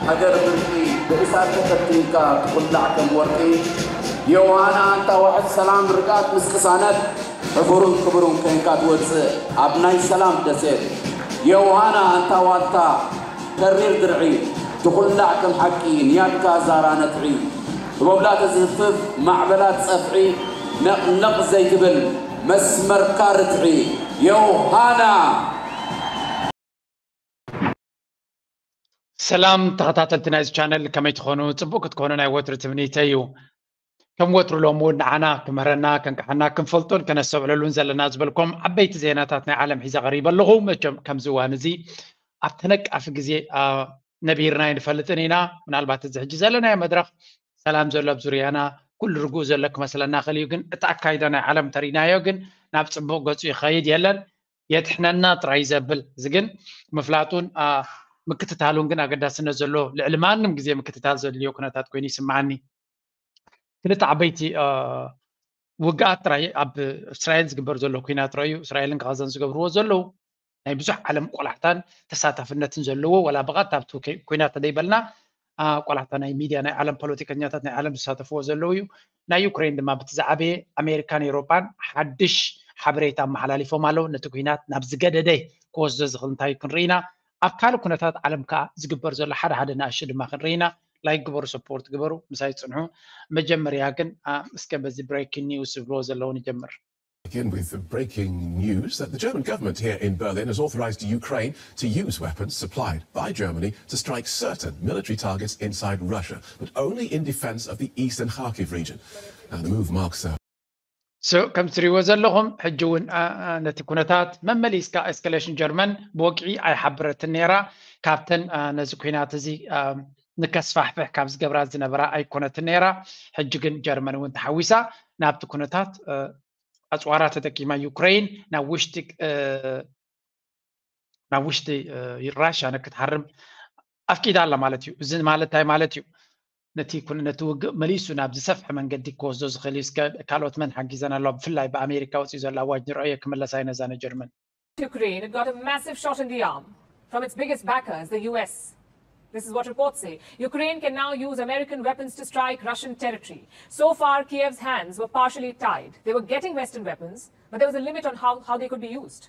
ሃገር ብርቂ ብእሳት ተፈቲንካ ትኹላዕ ከም ወርቂ። ዮሃና ኣንታ ዋሕስ ሰላም ርግኣት ምስ ቅሳነት ሕፉርን ክቡርን ኮይንካ ትወፅእ ኣብ ናይ ሰላም ደሴት። ዮሃና ኣንታ ዋልታ ተሪር ድርዒ ትኹላዕ ከም ሓቂ ንያድካ ዛራ ነጥዒ። ህቦብላ ተዝህፍፍ ማዕበላት ጸፍዒ ነቕነቕ ዘይትብል መስመርካ ርትዒ። ዮሃና! ሰላም ተኸታተልቲ ናይዚ ቻነል፣ ከመይ ትኾኑ? ጽቡቕ ክትኮኑ ናይ ወትሩ ትምኒተይ እዩ። ከም ወትሩ ሎም እውን ንዓና ክምህረና፣ ከንቅሓና፣ ክንፈልጦን ከነስተውዕለሉን ዘለና ዝበልኩም ዓበይቲ ዜናታት ናይ ዓለም ሒዘ ቀሪበ ኣለኹ። መቸም ከምዚ እዋን እዚ ኣብ ተነቃፊ ግዜ ነቢርና ኣይንፈልጥን ኢና። ምናልባት እዚ ሕጂ ዘለናዮ መድረኽ ሰላም ዘሎ ኣብ ዙርያና ኩሉ ርጉእ ዘሎ ክመስለና ክእል እዩ፣ ግን እቲ ኣካይዳ ናይ ዓለም ተሪናዮ ግን ናብ ጽቡቕ ገጹ ይኸይድ የለን። የድሕነና ጥራይ ዘብል እዚ ግን ምፍላጡን ምክትታሉን ግን ኣገዳስነት ዘለዎ፣ ልዕሊ ማንም ግዜ ምክትታል ዘድልዮ ኩነታት ኮይኑ ይስምዓኒ። ክልተ ዓበይቲ ውግኣት ጥራይ ኣብ እስራኤል ዝግበር ዘሎ ኩናት ረኣዩ። እስራኤልን ጋዛን ዝገብርዎ ዘለዉ ናይ ብዙሕ ዓለም ቆላሕታን ተሳታፍነትን ዘለዎ፣ ዋላ ብቐጥታ ኣብቲ ኩናት ተደይበልና ቆላሕታ ናይ ሚድያ ናይ ዓለም ፖለቲከኛታት ናይ ዓለም ዝሳተፍዎ ዘለዉ እዩ። ናይ ዩክሬን ድማ ብቲ ዝዓበየ ኣሜሪካን ኤውሮጳን ሓድሽ ሓበሬታ ኣመሓላሊፎም ኣለዉ። ነቲ ኩናት ናብ ዝገደደ ክወስዶ ዝኽእል እንታይ እዩ ክንርኢ ኢና። ኣብ ካልእ ኩነታት ዓለም ከኣ ዝግበር ዘሎ ሓደ ሓደ ንኣሽቱ ድማ ክንርኢ ኢና። ላይክ ግበሩ፣ ሰፖርት ግበሩ፣ ምሳይ ጽንሑ። መጀመርያ ግን እስከ በዚ ብሬኪንግ ኒውስ ዝብልዎ ዘለዉ ንጀምር። Begin with the breaking news that the German government here in Berlin has authorized Ukraine to use weapons supplied by Germany to strike certain military targets inside Russia, but only in defense of the eastern Kharkiv region. Now, the move marks a so ከም ትሪእዎ ዘለኹም ሕጂ እውን ነቲ ኩነታት መመሊስካ ኤስካሌሽን ጀርመን ብወግዒ ኣይሓበረትን ነይራ። ካብተን ነዚ ኩናት እዚ ንከስፋሕፍሕ ካብ ዝገብራ ዝነበራ ኣይኮነትን ነይራ። ሕጂ ግን ጀርመን እውን ተሓዊሳ ናብቲ ኩነታት ኣፅዋራ ተጠቂማ ዩክሬን ናብ ውሽጢ ናብ ውሽጢ ራሽያ ንክትሃርም ኣፍቂዳ ኣላ ማለት እዩ። እዚ ማለት እንታይ ማለት እዩ? ነቲ ነቲ ውግእ መሊሱ ናብ ዝሰፍሐ መንገዲ ክወስዶ ዝኽእል እዩ። እስከ ካልኦት መን ሓጊዘን ኣለዋ? ብፍላይ ብኣሜሪካ ወፂኡ ዘሎ ኣዋጅ ንርኣዮ። ክምለሳ እዩ ነዛ ንጀርመን። Ukraine, it got a massive shot in the arm from its biggest backers, the U S. This is what reports say. Ukraine can now use American weapons to strike Russian territory. So far, Kiev's hands were partially tied. They were getting Western weapons, but there was a limit on how, how they could be used.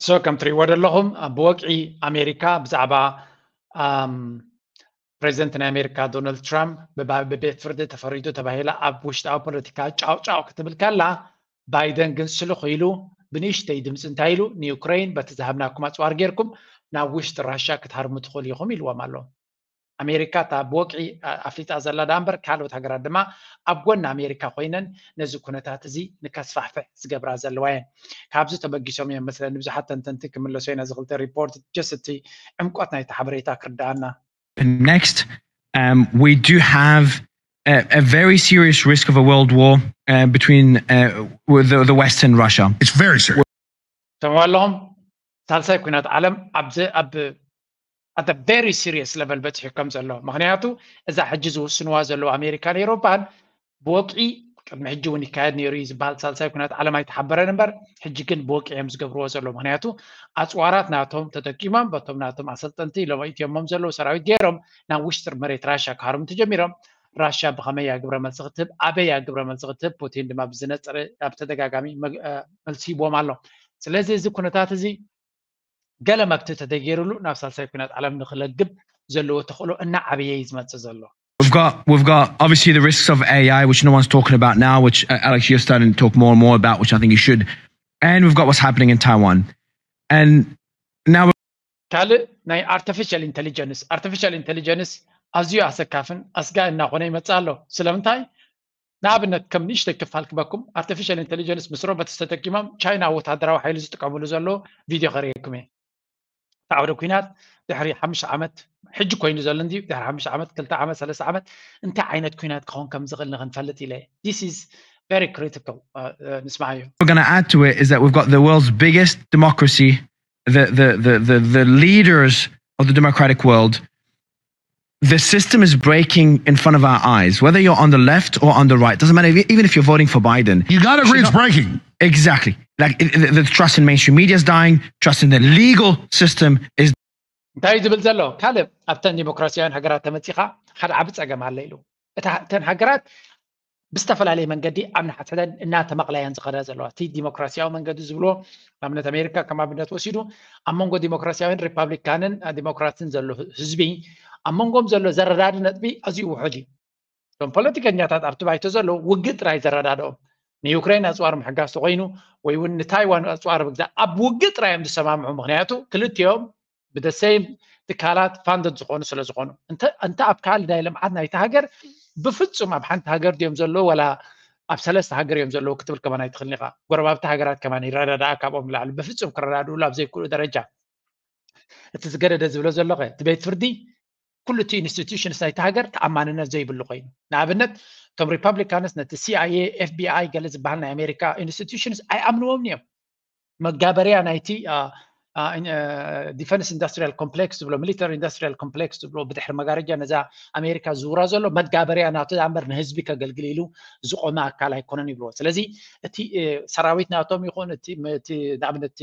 So ከም ትሪእዎ ዘለኹም ብወግዒ ኣሜሪካ ብዛዕባ ፕሬዚደንት ናይ ኣሜሪካ ዶናልድ ትራምፕ ብቤት ፍርዲ ተፈሪዱ ተባሂላ ኣብ ውሽጣዊ ፖለቲካ ጫው ጫው ክትብል ከላ፣ ባይደን ግን ስልኽ ኢሉ ብንእሽተይ ድምፂ እንታይ ኢሉ ንዩክሬን በቲ ዝሃብናኩም ኣፅዋር ጌርኩም ናብ ውሽጢ ራሻ ክትሃርሙ ትኽእሉ ኢኹም ኢልዎም ኣሎ። ኣሜሪካ እታ ብወግዒ ኣፍሊጣ ዘላ ዳ እምበር ካልኦት ሃገራት ድማ ኣብ ጎኒ ኣሜሪካ ኮይነን ነዚ ኩነታት እዚ ንከስፋሕፍሕ ዝገብራ ዘለዋ እየን። ካብዚ ተበጊሶም እዮም መስለኒ ብዙሓት ተንተንቲ ክምለሶ ኢና። እዚ ክልተ ሪፖርት ጀስት እቲ ዕምቆት ናይቲ ሓበሬታ ክርዳኣና። Next, um, we do have a, a very serious risk of a world war uh, between uh, the, the West and Russia. It's very serious. ሰምዑ ኣለኹም። ሳልሳይ ኩናት ዓለም ኣብዚ ኣብ ኣተ ቨሪ ሲሪየስ ለቨል በፂሑ ከም ዘሎ፣ ምክንያቱ እዛ ሕጂ ዝውስንዋ ዘለዉ ኣሜሪካን ኤውሮፓን ብወግዒ ቅድሚ ሕጂ እውን ይካየድ ነይሩ እዩ ዝበሃል ሳልሳይ ኩናት ዓለም ኣይተሓበረን እምበር፣ ሕጂ ግን ብወግዒ እዮም ዝገብርዎ ዘለዉ። ምክንያቱ ኣፅዋራት ናቶም ተጠቂሞም በቶም ናቶም ኣሰልጠንቲ ለመኢትዮሞም ዘለዉ ሰራዊት ገይሮም ናብ ውሽጢ መሬት ራሻ ክሃርሙ ተጀሚሮም። ራሻ ብኸመይ እያ ግብረ መልሲ ክትህብ፣ ኣበይ እያ ግብረ መልሲ ክትህብ፣ ፑቲን ድማ ብዝነፀረ ኣብ ተደጋጋሚ መልሲ ሂቦም ኣሎ። ስለዚ እዚ ኩነታት እዚ ገለ መግትኢ ተተገይሩሉ ናብ ሳልሳይ ኩናት ዓለም ንክለግብ ዘለዎ ተኽእሎ እናዓበየ እዩ ዝመፅእ ዘሎ። We've got we've got obviously the risks of A I, which no one's talking about now, which uh, Alex, you're starting to talk more and more about, which I think you should. And we've got what's happening in Taiwan. And now ካልእ ናይ ኣርቲፊሻል ኢንቴሊጀንስ፣ ኣርቲፊሻል ኢንቴሊጀንስ ኣዝዩ ኣሰካፍን ኣስጋኢ እናኾነ ይመፅእ ኣሎ። ስለምንታይ? ንኣብነት ከም ንእሽተይ ክፋል ክበኩም፣ ኣርቲፊሻል ኢንቴሊጀንስ ምስ ሮቦትስ ተጠቂሞም ቻይና ወታደራዊ ሓይሊ ዝጥቀምሉ ዘሎ ቪድዮ ከርእየኩም እየ። እቲ ዓውደ ኩናት ድሕሪ ሓሙሽተ ዓመት፣ ሕጂ ኮይኑ ዘሎ እንድዩ፣ ድሕሪ ሓሙሽተ ዓመት፣ ክልተ ዓመት፣ ሰለስተ ዓመት እንታይ ዓይነት ኩናት ክኸውን ከም ዝኽእል ንክንፈልጥ ኢለ። This is very critical. ንስማዓዮ። What we're going to add to it is that we've got the world's biggest democracy, the the the the, the leaders of the democratic world. The system is breaking in front of our eyes. Whether you're on the left or on the right, doesn't matter. Even if you're voting for Biden, you got to agree it's breaking. Exactly. Like the trust in mainstream media is dying. Trust in the legal system is እንታይ እዩ ዝብል ዘሎ ካልእ ኣብተን ዲሞክራሲያውያን ሃገራት ተመፂኻ ሓደ ዓቢ ፀገም ኣለ ኢሉ። እተን ሃገራት ብዝተፈላለየ መንገዲ ኣብ ንሓትሕተን እናተመቕለያን ዝኸዳ ዘለዋ እቲ ዲሞክራሲያዊ መንገዲ ዝብሎ ንኣብነት ኣሜሪካ ከም ኣብነት ወሲዱ ኣብ መንጎ ዲሞክራሲያዊን ሪፓብሊካንን ዲሞክራትን ዘሎ ህዝቢ ኣብ መንጎም ዘሎ ዘረዳዲ ነጥቢ ኣዝዩ ውሑድ እዩ። እቶም ፖለቲከኛታት ኣብቲ ባይቶ ዘለዉ ውግእ ጥራይ ዘረዳድኦም ንዩክሬን ኣፅዋር ምሕጋዝ ተኮይኑ ወይ እውን ንታይዋን ኣፅዋር ምግዛእ ኣብ ውግእ ጥራይ እዮም ዝሰማምዑ። ምክንያቱ ክልቲኦም ብደሰይም ትካላት ፋንደድ ዝኾኑ ስለ ዝኾኑ እንተ ኣብ ካልእ ናይ ልምዓት ናይቲ ሃገር ብፍፁም ኣብ ሓንቲ ሃገር ድዮም ዘለዉ ወላ ኣብ ሰለስተ ሃገር እዮም ዘለዉ ክትብል ከማን ኣይትኽእልን ኢኻ። ጎረባብቲ ሃገራት ከማን ይረዳድኣ ካብኦም ንላዕሊ ብፍፁም ክረዳድእሉ ኣብ ዘይክእሉ ደረጃ እቲ ዝገደደ ዝብሎ ዘሎ እቲ ቤት ፍርዲ ኩሉ እቲ ኢንስቲቱሽንስ ናይቲ ሃገር ተኣማንነት ዘይብሉ ኮይኑ ንኣብነት እቶም ሪፐብሊካንስ ነቲ ሲኣይኤ ኤፍቢኣይ ገለ ዝበሃል ናይ ኣሜሪካ ኢንስቲቱሽንስ ኣይኣምንዎም እዮም። መጋበርያ ናይቲ ዲፈንስ ኢንዱስትሪያል ኮምፕሌክስ ዝብሎ ሚሊተሪ ኢንዱስትሪያል ኮምፕሌክስ ዝብሎ ብድሕሪ መጋረጃ ነዛ ኣሜሪካ ዝውራ ዘሎ መጋበርያ ናቱ ዳምበር ንህዝቢ ከገልግል ኢሉ ዝቆመ ኣካል ኣይኮነን ይብልዎ። ስለዚ እቲ ሰራዊት ናቶም ይኹን ንኣብነት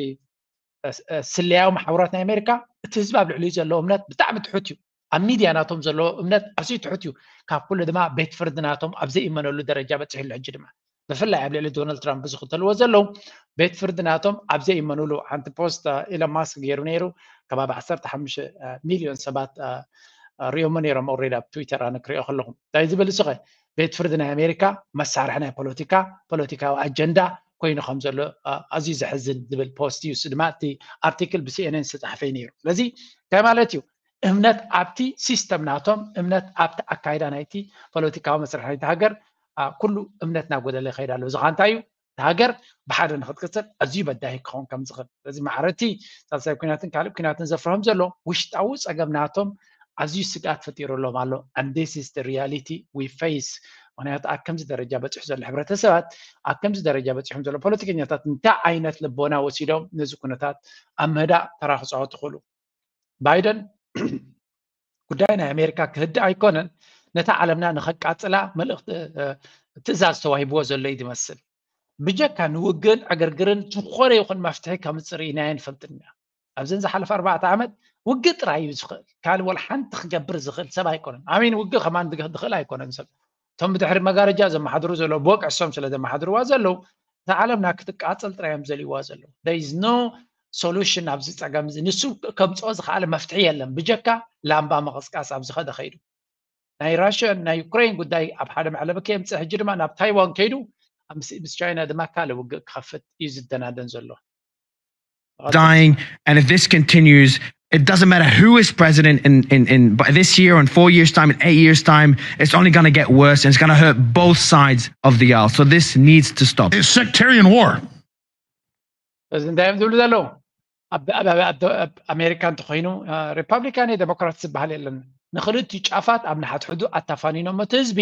ስለያዊ ማሕበራት ናይ ኣሜሪካ እቲ ህዝቢ ኣብ ልዕሊኡ ዘለዎ እምነት ብጣዕሚ ትሑት እዩ። ኣብ ሚድያ ናቶም ዘለዎ እምነት ኣዝዩ ትሑት እዩ። ካብ ኩሉ ድማ ቤት ፍርዲ ናቶም ኣብ ዘይእመነሉ ደረጃ በፂሑ ኣሎ። ሕጂ ድማ ብፍላይ ኣብ ልዕሊ ዶናልድ ትራምፕ ዝኽተልዎ ዘለዉ ቤት ፍርዲ ናቶም ኣብ ዘይእመኑሉ ሓንቲ ፖስት ኢሎን ማስክ ገይሩ ነይሩ ከባቢ ዓሰርተ ሓሙሽተ ሚልዮን ሰባት ሪኦሞ ነይሮም። ኦሬዲ ኣብ ትዊተር ኣነ ክሪኦ ከለኹ እንታይ ዝብል እሱኸ ቤት ፍርዲ ናይ ኣሜሪካ መሳርሒ ናይ ፖለቲካ ፖለቲካዊ ኣጀንዳ ኮይኑ ከም ዘሎ ኣዝዩ ዘሕዝን ዝብል ፖስት እዩ። እሱ ድማ እቲ ኣርቲክል ብሲኤንኤን ዝተፃሓፈ እዩ ነይሩ። ስለዚ እንታይ ማለት እዩ? እምነት ኣብቲ ሲስተም ናቶም እምነት ኣብቲ ኣካይዳ ናይቲ ፖለቲካዊ መስርሕ ናይቲ ሃገር ኩሉ እምነት እናጎደለ ይኸይድ ኣሎ። እዚ ከዓ እንታይ እዩ? እቲ ሃገር ብሓደ ንክትቅፅል ኣዝዩ በዳሂ ክኸውን ከም ዝኽእል ስለዚ ማዕረቲ ሳልሳይ ኩናትን ካልእ ኩናትን ዘፍርሆም ዘሎ ውሽጣዊ ፀገም ናቶም ኣዝዩ ስግኣት ፈጢሩሎም ኣሎ። And this is the reality we face። ምክንያቱ ኣብ ከምዚ ደረጃ በፂሑ ዘሎ ሕብረተሰባት ኣብ ከምዚ ደረጃ በፂሖም ዘሎ ፖለቲከኛታት እንታይ ዓይነት ልቦና ወሲዶም ነዚ ኩነታት ኣብ ምህዳእ ተራ ክፃወቱ ክእሉ? ባይደን ጉዳይ ናይ ኣሜሪካ ክህድእ ኣይኮነን ነታ ዓለምና ንኸቃፅላ መልእክቲ ትእዛዝ ተዋሂብዎ ዘሎ እዩ ዝመስል። ብጀካ ንውግእን ዕግርግርን ዝኾነ ይኹን መፍትሒ ከምፅእ ርኢናዮ ንፈልጥን ኢና። ኣብዘን ዝሓለፈ ኣርባዕተ ዓመት ውግእ ጥራይ እዩ ዝኽእል። ካልእ ወላ ሓንቲ ክገብር ዝኽእል ሰብ ኣይኮነን። ኣሚን ውግእ ከማን ዝኽእል ኣይኮነን ሰብ። እቶም ብድሕሪ መጋረጃ ዘመሓድሩ ዘለዉ ብወግዒ እሶም ስለ ዘመሓድርዋ ዘለዉ እታ ዓለምና ክትቃፀል ጥራይ እዮም ዘልይዋ ዘለዉ። There is no solution ኣብዚ ፀገም እዚ። ንሱ ከምፅኦ ዝኸኣለ መፍትሒ የለን ብጀካ ላምባ ምቕስቃስ ኣብ ዝኸደ ከይዱ። ናይ ራሽያን ናይ ዩክሬን ጉዳይ ኣብ ሓደ መዕለቢ ከየምፅእ ሕጂ ድማ ናብ ታይዋን ከይዱ ምስ ቻይና ድማ ካልእ ውግእ ክኸፍት እዩ ዝደናደን ዘሎ። dying. And if this continues, it doesn't matter who is president in, in, in by this year, in four years' time, in eight years' time, it's only going to get worse and it's going to hurt both sides of the aisle. So this needs to stop. It's sectarian war. እዚ እንታይ እዮም ዝብሉ ዘለዉ? ኣብ ኣሜሪካ እንተኮይኑ ሪፓብሊካን ዴሞክራት ዝበሃል የለን። ንክልቲኡ ጫፋት ኣብ ንሓትሕዱ ኣታፋኒኖም እቲ ህዝቢ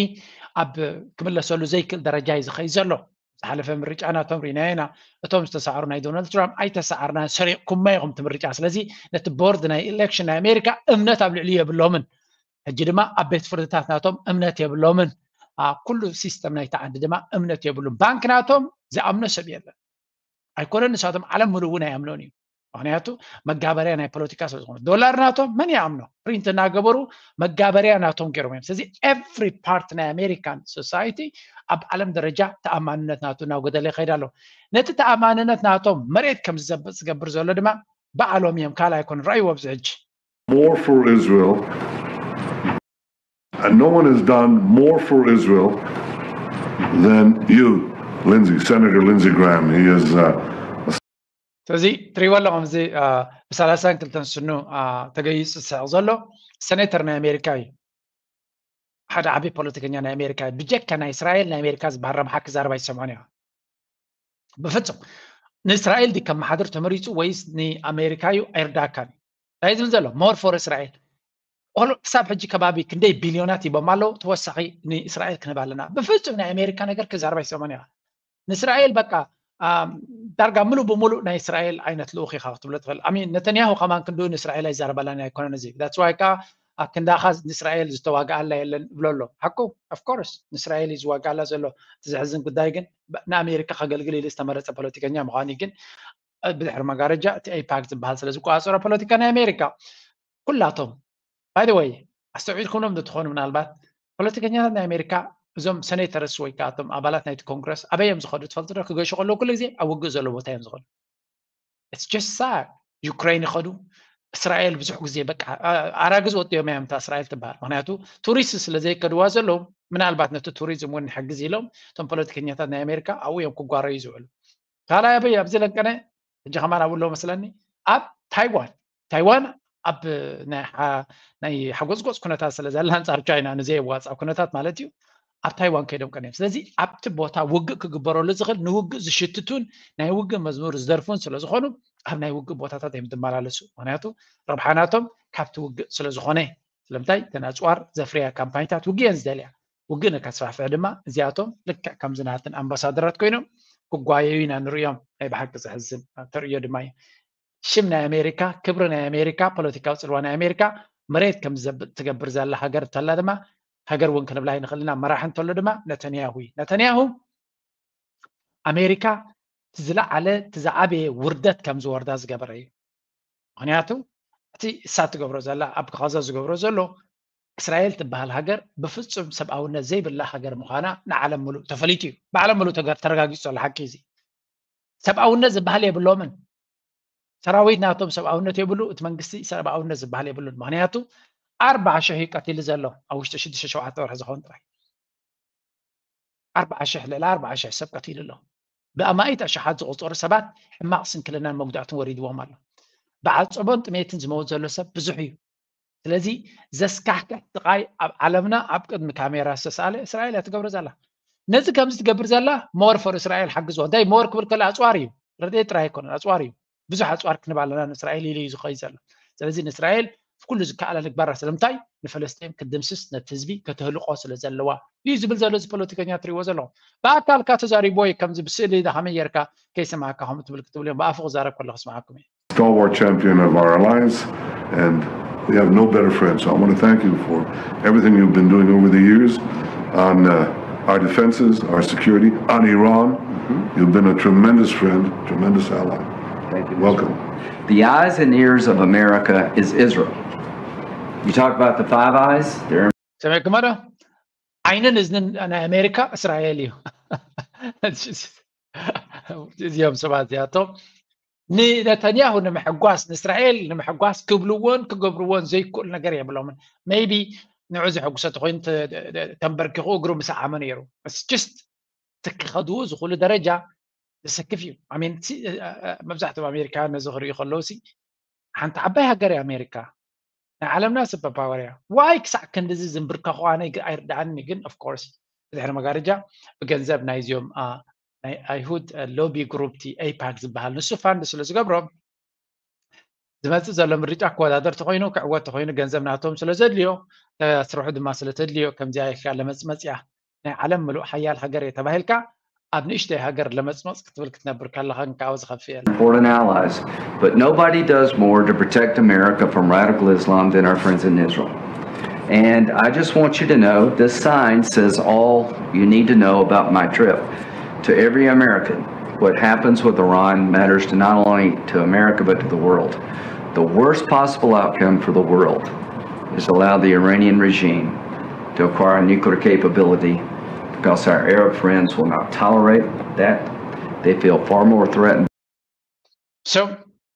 ኣብ ክምለሰሉ ዘይክእል ደረጃ እዩ ዝኸይድ ዘሎ። ዝሓለፈ ምርጫ ናቶም ርኢናዮ ኢና። እቶም ዝተሳዕሩ ናይ ዶናልድ ትራምፕ ኣይተሳዓርና ሰሪቕኩማ ኢኹም እቲ ምርጫ። ስለዚ ነቲ ቦርድ ናይ ኢሌክሽን ናይ ኣሜሪካ እምነት ኣብ ልዕሊ የብሎምን። ሕጂ ድማ ኣብ ቤት ፍርድታት ናቶም እምነት የብሎምን። ኩሉ ሲስተም ናይቲ ዓዲ ድማ እምነት የብሉን። ባንክ ናቶም ዝኣምኖ ሰብ የለን። ኣይኮነን ንሳቶም ዓለም ምሉእ እውን ኣይኣምኖን እዩ። ምክንያቱ መጋበርያ ናይ ፖለቲካ ስለ ዝኾነ ዶላር ናቶም መን ይኣምኖ ፕሪንት እናገበሩ መጋበርያ ናቶም ገይሮም እዮም። ስለዚ every part ናይ ኣሜሪካን ሶሳይቲ ኣብ ዓለም ደረጃ ተኣማንነት ናቱ እናጎደለ ይኸይድ ኣሎ። ነቲ ተኣማንነት ናቶም መሬት ከም ዝዘብጥ ዝገብር ዘሎ ድማ ባዕሎም እዮም ካልእ ኣይኮኑን። ረኣይዎ ኣብዚ ሕጂ more for Israel and no one has done more for Israel than you, Lindsey, Senator Lindsey Graham. He is. Uh, ስለዚ ትሪእዎ ኣለኹም እዚ ብሰላሳን ክልተን ስኑ ተገይፁ ዝስሕቕ ዘሎ ሰኔተር ናይ ኣሜሪካ እዩ። ሓደ ዓብዪ ፖለቲከኛ ናይ ኣሜሪካ እዩ። ብጀካ ናይ እስራኤል ናይ ኣሜሪካ ዝበሃል ረብሓ ክዛረብ ኣይሰምዖን እያ። ብፍፁም ንእስራኤል ድዩ ከመሓድር ተመሪፁ ወይስ ንኣሜሪካ እዩ? ኣይርዳእካን እዩ። እንታይ ዝብል ዘሎ more for እስራኤል ክሳብ ሕጂ ከባቢ ክንደይ ቢልዮናት ሂቦም ኣለዉ። ተወሳኺ ንእስራኤል ክንህብ ኣለና። ብፍፁም ናይ ኣሜሪካ ነገር ክዛረብ ኣይሰምዖን እያ። ንእስራኤል በቃ ዳርጋ ምሉእ ብምሉእ ናይ እስራኤል ዓይነት ልኡኽ ኢኻ ክትብሎ ትኽእል። ኣሚን ነተንያሁ ከማን ክንድኡ ንእስራኤል ኣይዛረባላን ኣይኮነን እዚ that's why ከዓ ኣክንዳኻ ንእስራኤል ዝተዋግኣላ የለን እብሎ ኣሎ። ሓቁ of course ንእስራኤል እዩ ዝዋግኣላ ዘሎ። እቲ ዘሕዝን ጉዳይ ግን ንኣሜሪካ ከገልግል ኢሉ ዝተመረፀ ፖለቲከኛ ምዃኑ ግን ብድሕሪ መጋረጃ እቲ ኤይፓክ ዝበሃል ስለ ዝቆፃፀሮ ፖለቲካ ናይ ኣሜሪካ ኩላቶም by the way ኣስተውዒልኩምሎም እንተትኾኑ ምናልባት ፖለቲከኛታት ናይ ኣሜሪካ እዞም ሴኔተርስ ወይ ከዓ እቶም ኣባላት ናይቲ ኮንግረስ ኣበይ እዮም ዝኸዱ ትፈልጡ ዶ? ክገሹ ከለዉ ኩሉ ግዜ ኣብ ውግእ ዘሎ ቦታ እዮም ዝኸዱ። It's just sad። ዩክሬን ይኸዱ፣ እስራኤል ብዙሕ ግዜ በቃ ኣራግዝ ወጥዮም እዮም እታ እስራኤል ትበሃል። ምክንያቱ ቱሪስት ስለ ዘይከድዋ ዘለዉ ምናልባት ነቲ ቱሪዝም እውን ንሕግዝ ኢሎም እቶም ፖለቲከኛታት ናይ ኣሜሪካ ኣብኡ እዮም ክጓረዩ ዝውዕሉ። ካልኣይ ኣበይ ኣብዚ ለንቀነ ሕጂ ከማን ኣብኡ ኣለዉ መስለኒ ኣብ ታይዋን ታይዋን ኣብ ናይ ሓጎፅጎፅ ኩነታት ስለ ዘላ ኣንፃር ቻይና ንዘየዋፃእ ኩነታት ማለት እዩ ኣብ ታይዋን ከይዶም ቀኒዮም። ስለዚ ኣብቲ ቦታ ውግእ ክግበረሉ ዝኽእል ንውግእ ዝሽትቱን ናይ ውግእ መዝሙር ዝደርፉን ስለ ዝኾኑ ኣብ ናይ ውግእ ቦታታት እዮም ዝመላለሱ። ምክንያቱ ረብሓ ናቶም ካብቲ ውግእ ስለ ዝኾነ። ስለምንታይ እተን ኣፅዋር ዘፍርያ ካምፓኒታት ውግእ እየን ዝደልያ። ውግእ ንከስፋሕፍሕ ድማ እዚኣቶም ልክዕ ከምዚ ናትን ኣምባሳደራት ኮይኖም ክጓየዩ ኢና ንርእዮም። ናይ ብሓቂ ዘሕዝን ተርእዮ ድማ እዩ። ሽም ናይ ኣሜሪካ፣ ክብሪ ናይ ኣሜሪካ፣ ፖለቲካዊ ፅልዋ ናይ ኣሜሪካ መሬት ከም ትገብር ዘላ ሃገር እንተላ ድማ ሃገር እውን ክንብላ ይንኽእል ኢና። መራሒ እንተሎ ድማ ነተንያሁ እዩ። ነተንያሁ ኣሜሪካ ዝለዓለ እቲ ዝዓበየ ውርደት ከም ዝወርዳ ዝገበረ እዩ። ምክንያቱ እቲ እሳ ትገብሮ ዘላ ኣብ ጋዛ ዝገብሮ ዘሎ እስራኤል ትበሃል ሃገር ብፍፁም ሰብኣውነት ዘይብላ ሃገር ምዃና ንዓለም ሙሉእ ተፈሊጡ እዩ። ብዓለም ሙሉእ ተረጋጊፁ ዘሎ ሓቂ እዚ። ሰብኣውነት ዝበሃል የብሎምን። ሰራዊት ናቶም ሰብኣውነት የብሉ፣ እቲ መንግስቲ ሰብኣውነት ዝበሃል የብሉን። ምክንያቱ ኣርባዓ ሽሕ እዩ ቀቲሉ ዘሎ ኣብ ውሽጢ ሽዱሽተ ሸውዓተ ወርሒ ዝኸውን ጥራይ ኣርባዓ ሽሕ ልዕሊ ኣርባዓ ሽሕ ሰብ ቀቲሉ ኣሎ። ብኣማኢት ኣሽሓት ዝቑፀሩ ሰባት ሕማቕ ስንክልናን መጉዳእትን ወሪድዎም ኣሎ። ብዓፀቦን ጥሜትን ዝመውት ዘሎ ሰብ ብዙሕ እዩ። ስለዚ ዘስካሕክሕ ስቓይ ኣብ ዓለምና ኣብ ቅድሚ ካሜራ ዝተሳለ እስራኤል እያ ትገብሮ ዘላ። ነዚ ከምዚ ትገብር ዘላ more for እስራኤል ሓግዝዎ። እንታይ more ክብል ከሎ ኣፅዋር እዩ፣ ረድኤት ጥራይ ኣይኮነን፣ ኣፅዋር እዩ። ብዙሕ ኣፅዋር ክንብ ኣለና ንእስራኤል ኢሉ እዩ ዝኸይድ ዘሎ። ስለዚ ንእስራኤል ኩሉ ዝከኣላ ንግባራ። ስለምንታይ ንፈለስጢን ክትድምስስ ነቲ ህዝቢ ከተህልቆ ስለ ዘለዋ እዩ ዝብል ዘሎ እዚ ፖለቲከኛ ትሪእዎ ዘለኹም። ብኣካልካ ተዛሪብዎ እዩ ከምዚ ብስእሊ ዳ ከመይ ጌርካ ከይሰማዕካ ከምኡ ትብል ክትብል እዮም ብኣፉ ክዛረብ ከሎ ክስማዓኩም እዩ። Stalwart champion of our alliance, and we have no better friend. So I want to thank you for everything you've been doing over the years on uh, our defenses, our security, on Iran. You've been a tremendous friend, tremendous ally. Thank you. Welcome. The eyes and ears of America is Israel. You talk about the Five Eyes, they're ሰሚዕኩሞ ዶ? ዓይንን እዝንን ናይ ኣሜሪካ እስራኤል እዩ። እዚኦም ሰባት እዚኣቶም ንነተንያሁ ንምሕጓስ ንእስራኤል ንምሕጓስ ክብልዎን ክገብርዎን ዘይክእሉ ነገር የብሎምን። Maybe ንዑ ዘሐጉሰ ተኮይኑ ተንበርኪኹ እግሩ ምስዓመ ነይሩ። Just ክኸድዎ ዝኽእሉ ደረጃ ዘሰክፍ እዩ። መብዛሕትኦም ኣሜሪካውያን ነዚ ክርእዩ ከለዉ ሓንቲ ዓባይ ሃገር እያ ኣሜሪካ፣ ናይ ዓለምና super power እያ። Why ክሳዕ ክንድዚ ዝንብርከኹ ኣነ ኣይርድኣኒ። ግን of course ብድሕሪ መጋረጃ ብገንዘብ ናይዚኦም ናይ ኣይሁድ ሎቢ ግሩፕ ቲ ኤይፓክ ዝበሃል ንሱ ፋንድ ስለ ዝገብሮም ዝመፅእ ዘሎ ምርጫ ክወዳደር ተኮይኑ ክዕወት ተኮይኑ ገንዘብ ናቶም ስለ ዘድልዮ ስርሑ ድማ ስለ ተድልዮ ከምዚኣ ኢልካ ለመፅመፅያ ናይ ዓለም ምሉእ ሓያል ሃገር እየ ተባሂልካ ኣብ ንእሽተይ ሃገር ለመፅመፅ ክትብል ክትነብር ከለኻ እንካው ዝኸፍእ የለን። Important allies, but nobody does more to protect America from radical Islam than our friends in Israel. And I just want you to know this sign says all you need to know about my trip. To every American, what happens with Iran matters to not only to America but to the world. The worst possible outcome for the world is to allow the Iranian regime to acquire nuclear capability because our Arab friends will not tolerate that. They feel far more threatened. So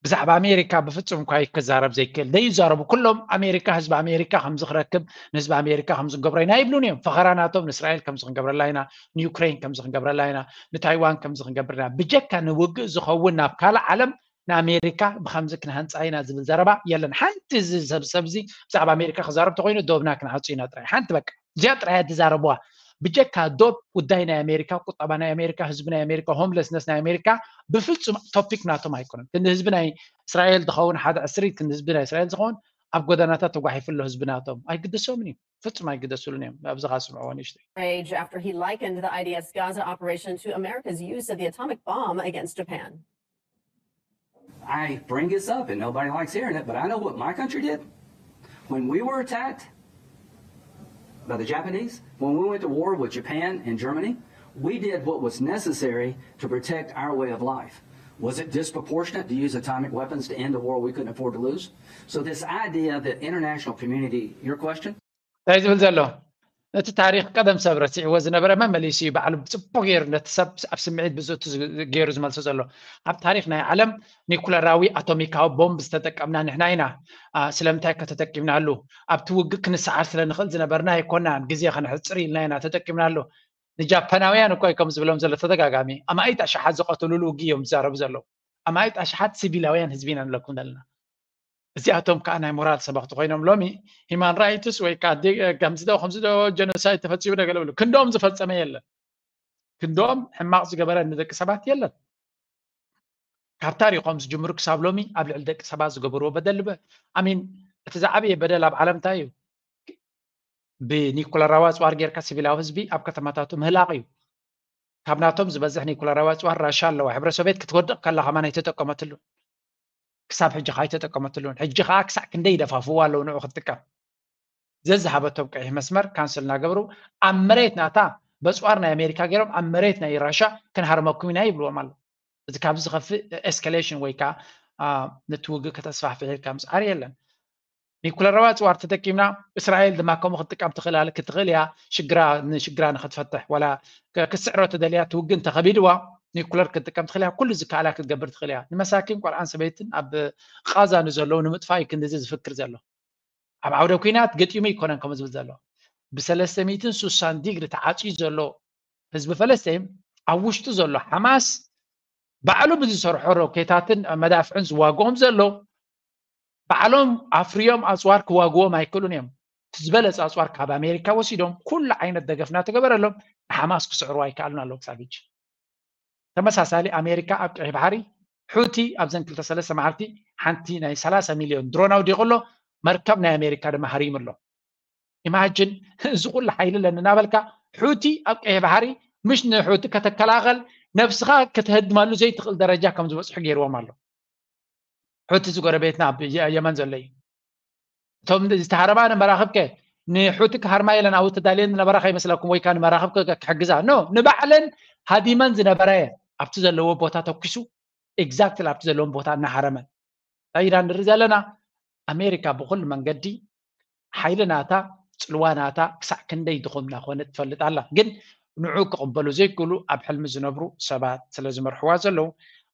ብዛዕባ ኣሜሪካ ብፍፁም እኳ ክዛረብ ዘይክእል ዘይዛረቡ ኩሎም ኣሜሪካ ህዝቢ ኣሜሪካ ከምዚ ክረክብ ንህዝቢ ኣሜሪካ ከምዚ ክንገብሮ ኢና ይብሉን እዮም። ፈኸራ ናቶም ንእስራኤል ከምዚ ክንገብረላ ኢና፣ ንዩክሬን ከምዚ ክንገብረላ ኢና፣ ንታይዋን ከምዚ ክንገብር ኢና። ብጀካ ንውግእ ዝኸውን ናብ ካልእ ዓለም ንኣሜሪካ ብከምዚ ክንሃንፃ ኢና ዝብል ዘረባ የለን። ሓንቲ እዚ ሰብ ሰብዚ ብዛዕባ ኣሜሪካ ክዛረብ ተኮይኑ ዶብና ክንዓፁ ኢና ጥራይ። ሓንቲ በቃ እዚኣ ጥራይ እያ ዝዛረብዋ። ብጀካ ዶብ ጉዳይ ናይ ኣሜሪካ፣ ቁጠባ ናይ ኣሜሪካ፣ ህዝቢ ናይ ኣሜሪካ፣ ሆምለስነስ ናይ ኣሜሪካ ብፍፁም ቶፒክ ናቶም ኣይኮነን። ክንዲ ህዝቢ ናይ እስራኤል ዝኸውን ሓደ ዕስሪት ክንዲ ህዝቢ ናይ እስራኤል ዝኸውን ኣብ ጎደናታት ተጓሒፉ ኣሎ ህዝቢ ናቶም። ኣይግደሶምን እዩ፣ ፍፁም ኣይግደሱሉን እዮም። ኣብዚ ካ ስምዕዎ ንእሽተይ። Rage after he likened the I D F's Gaza operation to America's use of the atomic bomb against Japan. I bring this up and nobody likes hearing it, but I know what my country did. When we were attacked by the Japanese, when we went to war with Japan and Germany, we did what was necessary to protect our way of life. Was it disproportionate to use atomic weapons to end a war we couldn't afford to lose? So this idea that international community, your question? እንታይ ዝብል ዘሎ? ነቲ ታሪኽ ቀደም ሰብ ረሲዕዎ ዝነበረ መመሊሱ እዩ ባዕሉ ብፅቡቅ ገይሩ ነቲ ሰብ ኣብ ስምዒት ብዝእቱ ገይሩ ዝመልሶ ዘሎ። ኣብ ታሪኽ ናይ ዓለም ኒኩለራዊ ኣቶሚካዊ ቦምብ ዝተጠቀምና ንሕና ኢና። ስለምንታይ ከ ተጠቂምናሉ? ኣብቲ ውግእ ክንሰዓር ስለ ንኽእል ዝነበርና ኣይኮናን። ግዜ ከነሕፅር ኢልና ኢና ተጠቂምናሉ። ንጃፓናውያን እኮ እዩ ከም ዝብሎም ዘሎ ተደጋጋሚ። ኣማኢት ኣሽሓት ዝቐተሉሉ ውግእ እዮም ዝዛረቡ ዘለዉ። ኣማኢት ኣሽሓት ሲቪላውያን ህዝቢ ኢና ንብለኩም ዘለና። እዚኣቶም ከዓ ናይ ሞራል ሰበኽቲ ኮይኖም ሎሚ ሂማን ራይትስ ወይ ከዓ ከምዚ ዶ ከምዚ ዶ ጀኖሳይድ ተፈፂሙ ዶ ገለ ብሉ ክንዶም ዝፈፀመ የለን። ክንዶም ሕማቕ ዝገበረ ንደቂ ሰባት የለን። ካብ ታሪኾም ዝጅምሩ ክሳብ ሎሚ ኣብ ልዕሊ ደቂ ሰባት ዝገበርዎ በደል ልበ ኣሚን እቲ ዝዓበየ በደል ኣብ ዓለም እንታይ እዩ? ብኒኩለራዊ ኣፅዋር ጌርካ ሲቪላዊ ህዝቢ ኣብ ከተማታቱ ምህላቕ እዩ። ካብ ናቶም ዝበዝሕ ኒኩለራዊ ኣፅዋር ራሻ ኣለዋ። ሕብረ ሶቪየት ክትወድቕ ከላ ከማን ኣይተጠቀመትሉን። ክሳብ ሕጂ ከዓ ኣይተጠቀመትሉን። ሕጂ ከዓ ክሳዕ ክንደይ ይደፋፍዋ ኣለዉ ንዑ ክትጥቀም። ዘዝሃበቶም ቀይሕ መስመር ካንስል እናገበሩ ኣብ መሬት ናታ በፅዋር ናይ ኣሜሪካ ገይሮም ኣብ መሬት ናይ ራሻ ክንሃርመኩም ኢና ይብልዎም ኣለዉ። እዚ ካብዚ ዝኸፍእ ኤስካሌሽን ወይ ከዓ ነቲ ውግእ ከተስፋሕፍሕ ኢልካ ምስዓር የለን። ኒኩለራዊ ኣፅዋር ተጠቂምና እስራኤል ድማ ከምኡ ክትጥቀም ትኽእል ክትኽእል እያ። ሽግራ ንሽግራ ንክትፈትሕ ዋላ ክትስዕሮ ተደልያ ትውግእ እንተኸቢድዋ ኒኩለር ክትጥቀም ትኽእል እያ። ኩሉ ዝከኣላ ክትገብር ትኽእል እያ። ንመሳኪን ቆልዓን ሰበይትን ኣብ ቃዛ ንዘለዉ ንምጥፋእ እዩ ክንድዚ ዝፍክር ዘሎ። ኣብ ዓውደ ኩናት ገጢሙ ይኮነን ከምኡ ዝብል ዘሎ። ብሰለስተ ሚእትን ሱሳን ዲግሪ ተዓፅዩ ዘሎ ህዝቢ ፈለስጢን ኣብ ውሽጡ ዘሎ ሓማስ ባዕሉ ብዝሰርሖ ሮኬታትን መዳፍዕን ዝዋግኦም ዘሎ ባዕሎም ኣፍርዮም ኣፅዋር ክዋግዎም ኣይክእሉን እዮም። እቲ ዝበለፀ ኣፅዋር ካብ ኣሜሪካ ወሲዶም ኩሉ ዓይነት ደገፍ እናተገበረሎም ንሓማስ ክስዕሩ ኣይከኣሉን ኣለዉ ክሳብ ሕጂ። ተመሳሳሊ ኣሜሪካ ኣብ ቀይሕ ባሕሪ ሑቲ ኣብዘን ክልተ ሰለስተ መዓልቲ ሓንቲ ናይ ሰላሳ ሚልዮን ድሮን ኣውዲቑ ኣሎ። መርከብ ናይ ኣሜሪካ ድማ ሃሪሙ ኣሎ። ኢማጅን እዚ ኩሉ ሓይሊ ኣለኒ እናበልካ ሑቲ ኣብ ቀይሕ ባሕሪ ምሽ ንሑቲ ከተከላኸል ነብስኻ ከተህድመሉ ዘይትኽእል ደረጃ ከም ዝበፅሑ ገይርዎም ኣሎ። ሑቲ ዝጎረቤትና ኣብ የመን ዘሎ እዩ። እቶም ዝተሃረማ ንመራኽብ ከ ንሑቲ ክሃርማ የለን ኣብኡ ተዳልየን ዝነበራ ከይመስለኩም ወይ ከዓ ንመራኽብ ክሕግዛ ኖ ንባዕለን ሃዲመን ዝነበራ እየን። ኣብቲ ዘለዎ ቦታ ተኩሱ ኤግዛክትሊ ኣብቲ ዘለዎም ቦታ እናሃረመን ኢራን ንርኢ ዘለና ኣሜሪካ ብኩሉ መንገዲ ሓይሊ ናታ ፅልዋ ናታ ክሳዕ ክንደይ ድኹም እናኾነ ትፈልጥ ኣላ። ግን ንዑ ክቕበሉ ዘይክእሉ ኣብ ሕልሚ ዝነብሩ ሰባት ስለ ዝመርሕዋ ዘለዉ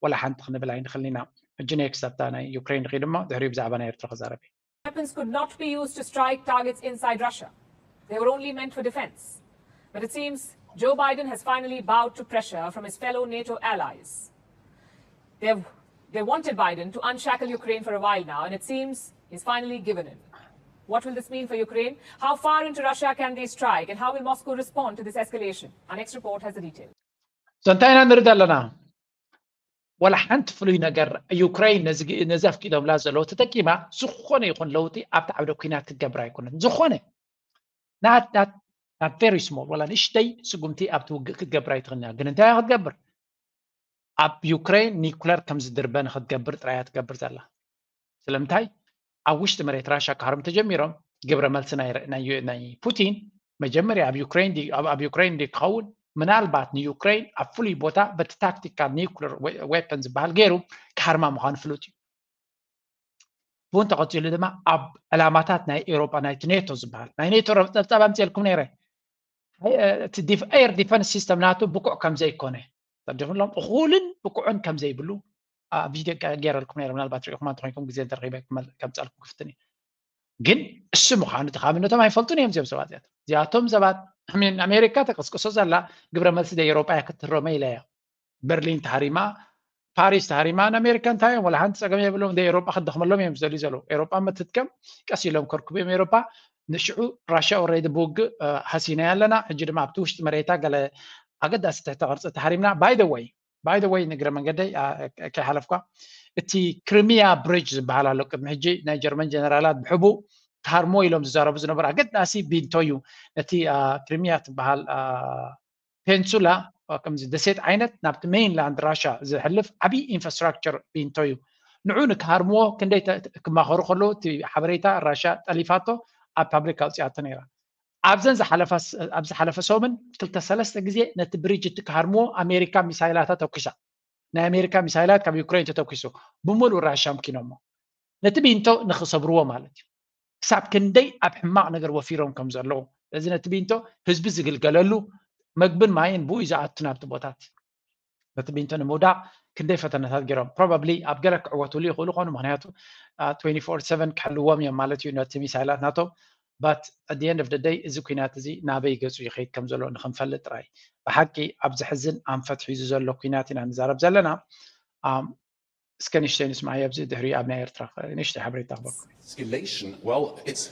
ወላ ሓንቲ ክንብል ኣይንኽልን ኢና። ሕጂ ኔክስት ኣብታ ናይ ዩክሬን ንኺድ እሞ ድሕሪኡ ብዛዕባ ናይ ኤርትራ ክዛረብ እየ። Weapons could not be used to strike targets inside Russia. They were only meant for defense. But it seems Joe Biden has finally bowed to pressure from his fellow NATO allies. They've, they wanted Biden to unshackle Ukraine for a while now, and it seems he's finally given in. What will this mean for Ukraine? How far into Russia can they strike, and how will Moscow respond to this escalation? Our next report has the details. So እንታይ ኢና ንርኢ ዘለና? ዋላ ሓንቲ ፍሉይ ነገር ዩክሬን ነዚ ኣፍቂዶምላ ዘለዉ ተጠቂማ ዝኾነ ይኹን ለውጢ ኣብቲ ዓውደ ኩናት ክትገብር ኣይኮነትን። ዝኾነ ናት ቨሪ ስሞል ዋላ ንእሽተይ ስጉምቲ ኣብቲ ውግእ ክትገብር ኣይትኽእልን እያ። ግን እንታይ ክትገብር? ኣብ ዩክሬን ኒኩለር ከም ዝድርበ ንክትገብር ጥራይ እያ ትገብር ዘላ። ስለምንታይ ኣብ ውሽጢ መሬት ራሻ ክሃርሙ ተጀሚሮም ግብረ መልሲ ናይ ፑቲን መጀመርያ ኣብ ዩክሬን ኣብ ዩክሬን ድዩ ክኸውን ምናልባት ንዩክሬን ኣብ ፍሉይ ቦታ በቲ ታክቲካል ኒውክለር ዌፐን ዝበሃል ገይሩ ክሃርማ ምዃኑ ፍሉጥ እዩ። ብኡ እንተቐፂሉ ድማ ኣብ ዕላማታት ናይ ኤውሮጳ ናይቲ ኔቶ ዝበሃል ናይ ኔቶ ረብፀብፃብ ኣምፅኤልኩም ነይረ። እቲ ኤር ዲፈንስ ሲስተም ናቱ ብቁዕ ከም ዘይኮነ ተዲኹሎም እኹልን ብቁዕን ከም ዘይብሉ ቪድዮ ገይረልኩም ነይረ። ምናልባት ሪኢኹማ እንተኮይንኩም ግዜ እንተረኺበ ከምፃልኩም ክፍትን እዩ። ግን እሱ ምዃኑ ተኻምነቶም ኣይፈልጡን እዮም እዚኦም ሰባት እዚኣቶም። እዚኣቶም ሰባት ኣሜሪካ ተቀስቅሶ ዘላ ግብረ መልሲ ደ ኤውሮጳ እያ ክትህረመ ኢለ እያ። በርሊን ተሃሪማ፣ ፓሪስ ተሃሪማ ንኣሜሪካ እንታይ እዮም ወላ ሓንቲ ፀገም የብሎም። ደ ኤውሮጳ ክደኽመሎም እዮም ዝደልዩ ዘለዉ። ኤውሮጳ መትትከም ቀስ ኢሎም ከርክቡ እዮም ኤውሮጳ። ንሽዑ ራሽያ ኦረዲ ብውግእ ሃሲናያ ኣለና። ሕጂ ድማ ኣብቲ ውሽጢ መሬታ ገለ ኣገዳሲ ትሕተ ቅርፂ ተሃሪምና። ባይ ደ ወይ ባይ ደ ወይ ንግረ መንገደይ ከይሓለፍኳ እቲ ክሪሚያ ብሪጅ ዝበሃል ኣሎ። ቅድሚ ሕጂ ናይ ጀርመን ጀነራላት ብሕቡእ ክሃርሞ ኢሎም ዝዛረቡ ዝነበሩ ኣገዳሲ ቢንቶ እዩ። ነቲ ክሪሚያ ትበሃል ፔንሱላ ከምዚ ደሴት ዓይነት ናብቲ ሜይንላንድ ራሻ ዝሕልፍ ዓብዪ ኢንፍራስትራክቸር ቢንቶ እዩ። ንዑ ንክሃርምዎ ክንደይ ክማኸሩ ከለዉ እቲ ሓበሬታ ራሻ ጠሊፋቶ ኣብ ፓብሊክ ኣውፅኣቶ ነይራ። ኣብዘን ኣብ ዝሓለፈ ሰሙን ክልተ ሰለስተ ግዜ ነቲ ብሪጅ እቲ ክሃርምዎ ኣሜሪካ ሚሳይላታ ተኩሳ። ናይ ኣሜሪካ ሚሳይላት ካብ ዩክሬን ተተኩሱ ብምሉእ ራሻ ኣምኪኖሞ። ነቲ ቢንቶ ንክሰብርዎ ማለት እዩ። ክሳብ ክንደይ ኣብ ሕማቕ ነገር ወፊሮም ከም ዘለዉ። ስለዚ ነቲ ቢንቶ ህዝቢ ዝግልገለሉ፣ መግብን ማይን ብኡ እዩ ዝኣቱ ናብቲ ቦታት። ነቲ ቢንቶ ንምውዳቕ ክንደይ ፈተነታት ገይሮም። ፕሮባብሊ ኣብ ገለ ክዕወትሉ ይኽእሉ ኾኑ፣ ምክንያቱ ትዌንቲ ፎር ሰቨን ክሕልዎም እዮም ማለት እዩ ነቲ ሚሳይላት ናቶም። But at the end of the day እዚ ኩናት እዚ ናበይ ገጹ ይኸይድ ከም ዘሎ ንክንፈልጥ ጥራይ። ብሓቂ ኣብ ዘሕዝን ኣንፈት ሒዙ ዘሎ ኩናት ኢና ንዛረብ ዘለና። እስከ ንሽተይ ንስማዕ ኣብዚ ድሕሪ ኣብ ናይ ኤርትራ ንሽተይ ሓበሬታ ክበኩም። Escalation. Well, it's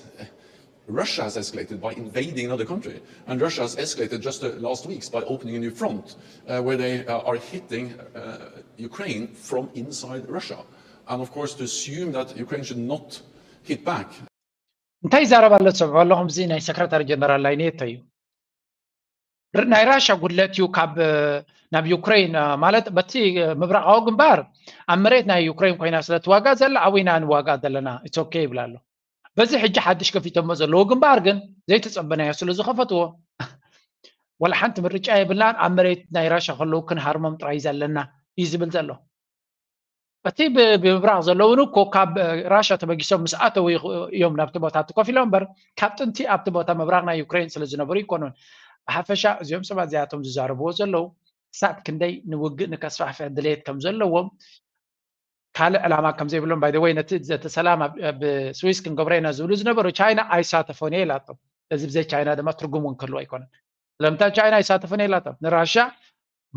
Russia has escalated by invading another country, and Russia has escalated just uh, last weeks by opening a new front uh, where they uh, are hitting uh, Ukraine from inside Russia. And of course, to assume that Ukraine should not hit back. እንታይ ይዛረብ ኣሎ ትሰምዑ ኣለኹም? እዚ ናይ ሰክረታሪ ጀነራል ናይ ኔቶ እዩ። ናይ ራሻ ጉድለት እዩ ካብ ናብ ዩክሬን ማለት በቲ ምብራቃዊ ግንባር ኣብ መሬት ናይ ዩክሬን ኮይና ስለ ትዋጋ ዘላ ኣብኡ ኢና ንዋጋ ዘለና it's okay ይብል ኣሎ። በዚ ሕጂ ሓድሽ ከፊቶሞ ዘለዉ ግንባር ግን ዘይተጸበናዮ ስለ ዝኸፈትዎ ወላ ሓንቲ ምርጫ የብልናን ኣብ መሬት ናይ ራሻ ከለዉ ክንሃርሞም ጥራይ ዘለና እዩ ዝብል ዘሎ። እቲ ብምብራቕ ዘለውን እኮ ካብ ራሻ ተበጊሶም ምስ ኣተው እዮም ናብቲ ቦታ እቲ ኮፍ ኢሎም እምበር ካብ ጥንቲ ኣብቲ ቦታ ምብራቕ ናይ ዩክሬን ስለ ዝነበሩ ይኮኑን። ብሓፈሻ እዚኦም ሰባት እዚኣቶም ዝዛረብዎ ዘለዉ ክሳብ ክንደይ ንውግእ ንከስፋሕፍሕ ድሌት ከም ዘለዎም ካልእ ዕላማ ከም ዘይብሎም by the way ነቲ ዘተ ሰላም ኣብ ስዊስ ክንገብሮ ኢና ዝብሉ ዝነበሩ ቻይና ኣይሳተፎን እየ ኢላቶም። እዚ ብዘይ ቻይና ድማ ትርጉም እውን ክህልዎ ኣይኮነን። ስለምንታይ ቻይና ኣይሳተፎን እየ ኢላቶም? ንራሻ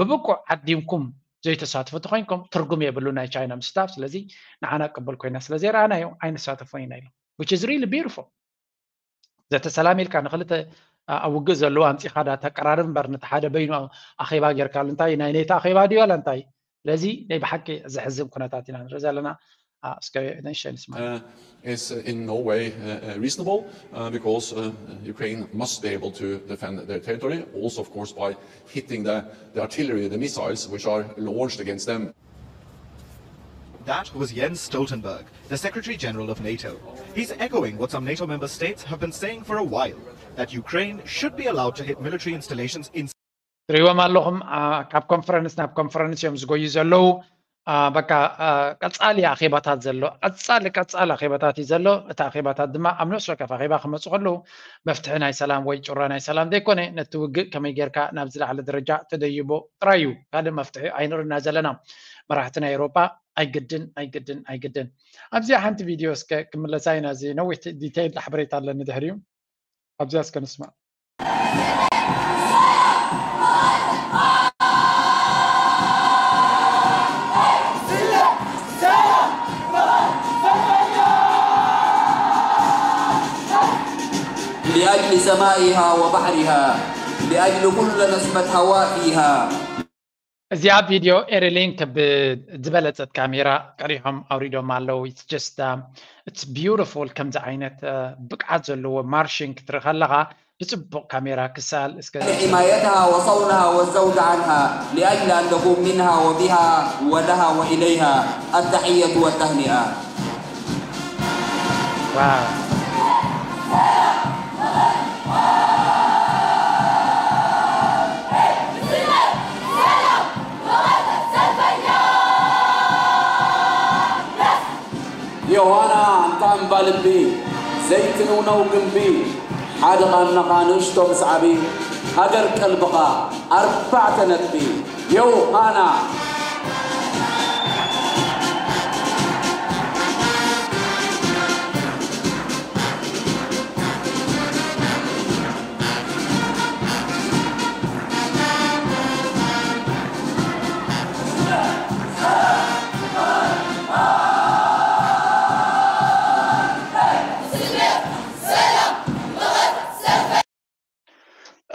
ብብቁዕ ዓዲምኩም ዘይተሳትፉ ተኮይንኩም ትርጉም የብሉ ናይ ቻይና ምስታፍ። ስለዚ ንዓና ቅብል ኮይና ስለ ዘይረኣናዮ ኣይንሳተፎን ኢና ኢሎም። Which is really beautiful። ዘተ ሰላም ኢልካ ንክልተ ኣብ ውግእ ዘለዉ ኣምፂኻ ዳ ተቀራርብ እምበር ነቲ ሓደ በይኑ ኣኼባ ጌርካሉ እንታይ ናይ ኔቶ ኣኼባ ድዩ ዋላ እንታይ? ስለዚ ናይ ብሓቂ ዘሕዝን ኩነታት ኢና ንርኢ ዘለና። እስከ ንእሽተይ ንስማ። Is in no way reasonable because Ukraine must be able to defend their territory, also of course by hitting the, the artillery, the missiles which are launched against them. That was Jens Stoltenberg, the Secretary General of NATO. He's echoing what some NATO member states have been saying for a while, that Ukraine should be allowed to hit military installations in ትሪእዎም ኣለኹም። ካብ ኮንፈረንስ ናብ ኮንፈረንስ እዮም ዝጎዩ ዘለዉ። በቃ ቀፃሊ ኣኼባታት ዘሎ ቀፃሊ ቀፃሊ ኣኼባታት እዩ ዘሎ። እቲ ኣኼባታት ድማ ኣብ ነፍሲ ወከፍ ኣኼባ ክመፁ ከለዉ መፍትሒ ናይ ሰላም ወይ ጩራ ናይ ሰላም ዘይኮነ ነቲ ውግእ ከመይ ጌርካ ናብ ዝለዓለ ደረጃ ተደይቦ ጥራይ እዩ። ካልእ መፍትሒ ኣይንርእና ዘለና። መራሕቲ ናይ ኤውሮጳ ኣይግድን ኣይግድን ኣይግድን። ኣብዚኣ ሓንቲ ቪድዮ እስከ ክምለሳ ኢና። እዚ ነዊሕ ዲቴይል ሓበሬታ ኣለኒ ድሕሪኡ። ኣብዚኣ እስከ ንስማዕ። لأجل سمائها وبحرها، لأجل كل نسمة هواء فيها. እዚኣ ቪድዮ ኤሪሊንክ ብዝበለፀት ካሜራ ቀሪሖም ኣውሪዶም ኣለዉ። It's just it's beautiful ከምዚ ዓይነት ብቅዓት ዘለዎ ማርሽን ክትርኢ ከለኻ ብፅቡቕ ካሜራ ክሳል እስከ لحمايتها وصونها والزود عنها لأجل أن تقوم منها وبها ولها وإليها التحية والتهنئة. Wow. ዮሃና ኣንታ እምባ ልቢ ዘይትንውነው ግንቢ ሓደ ቓንናኻ ንእሽቶ ምስ ዓቢ ሃገር ቀልብኻ ኣርባዕተ ነጥቢ ዮሃና።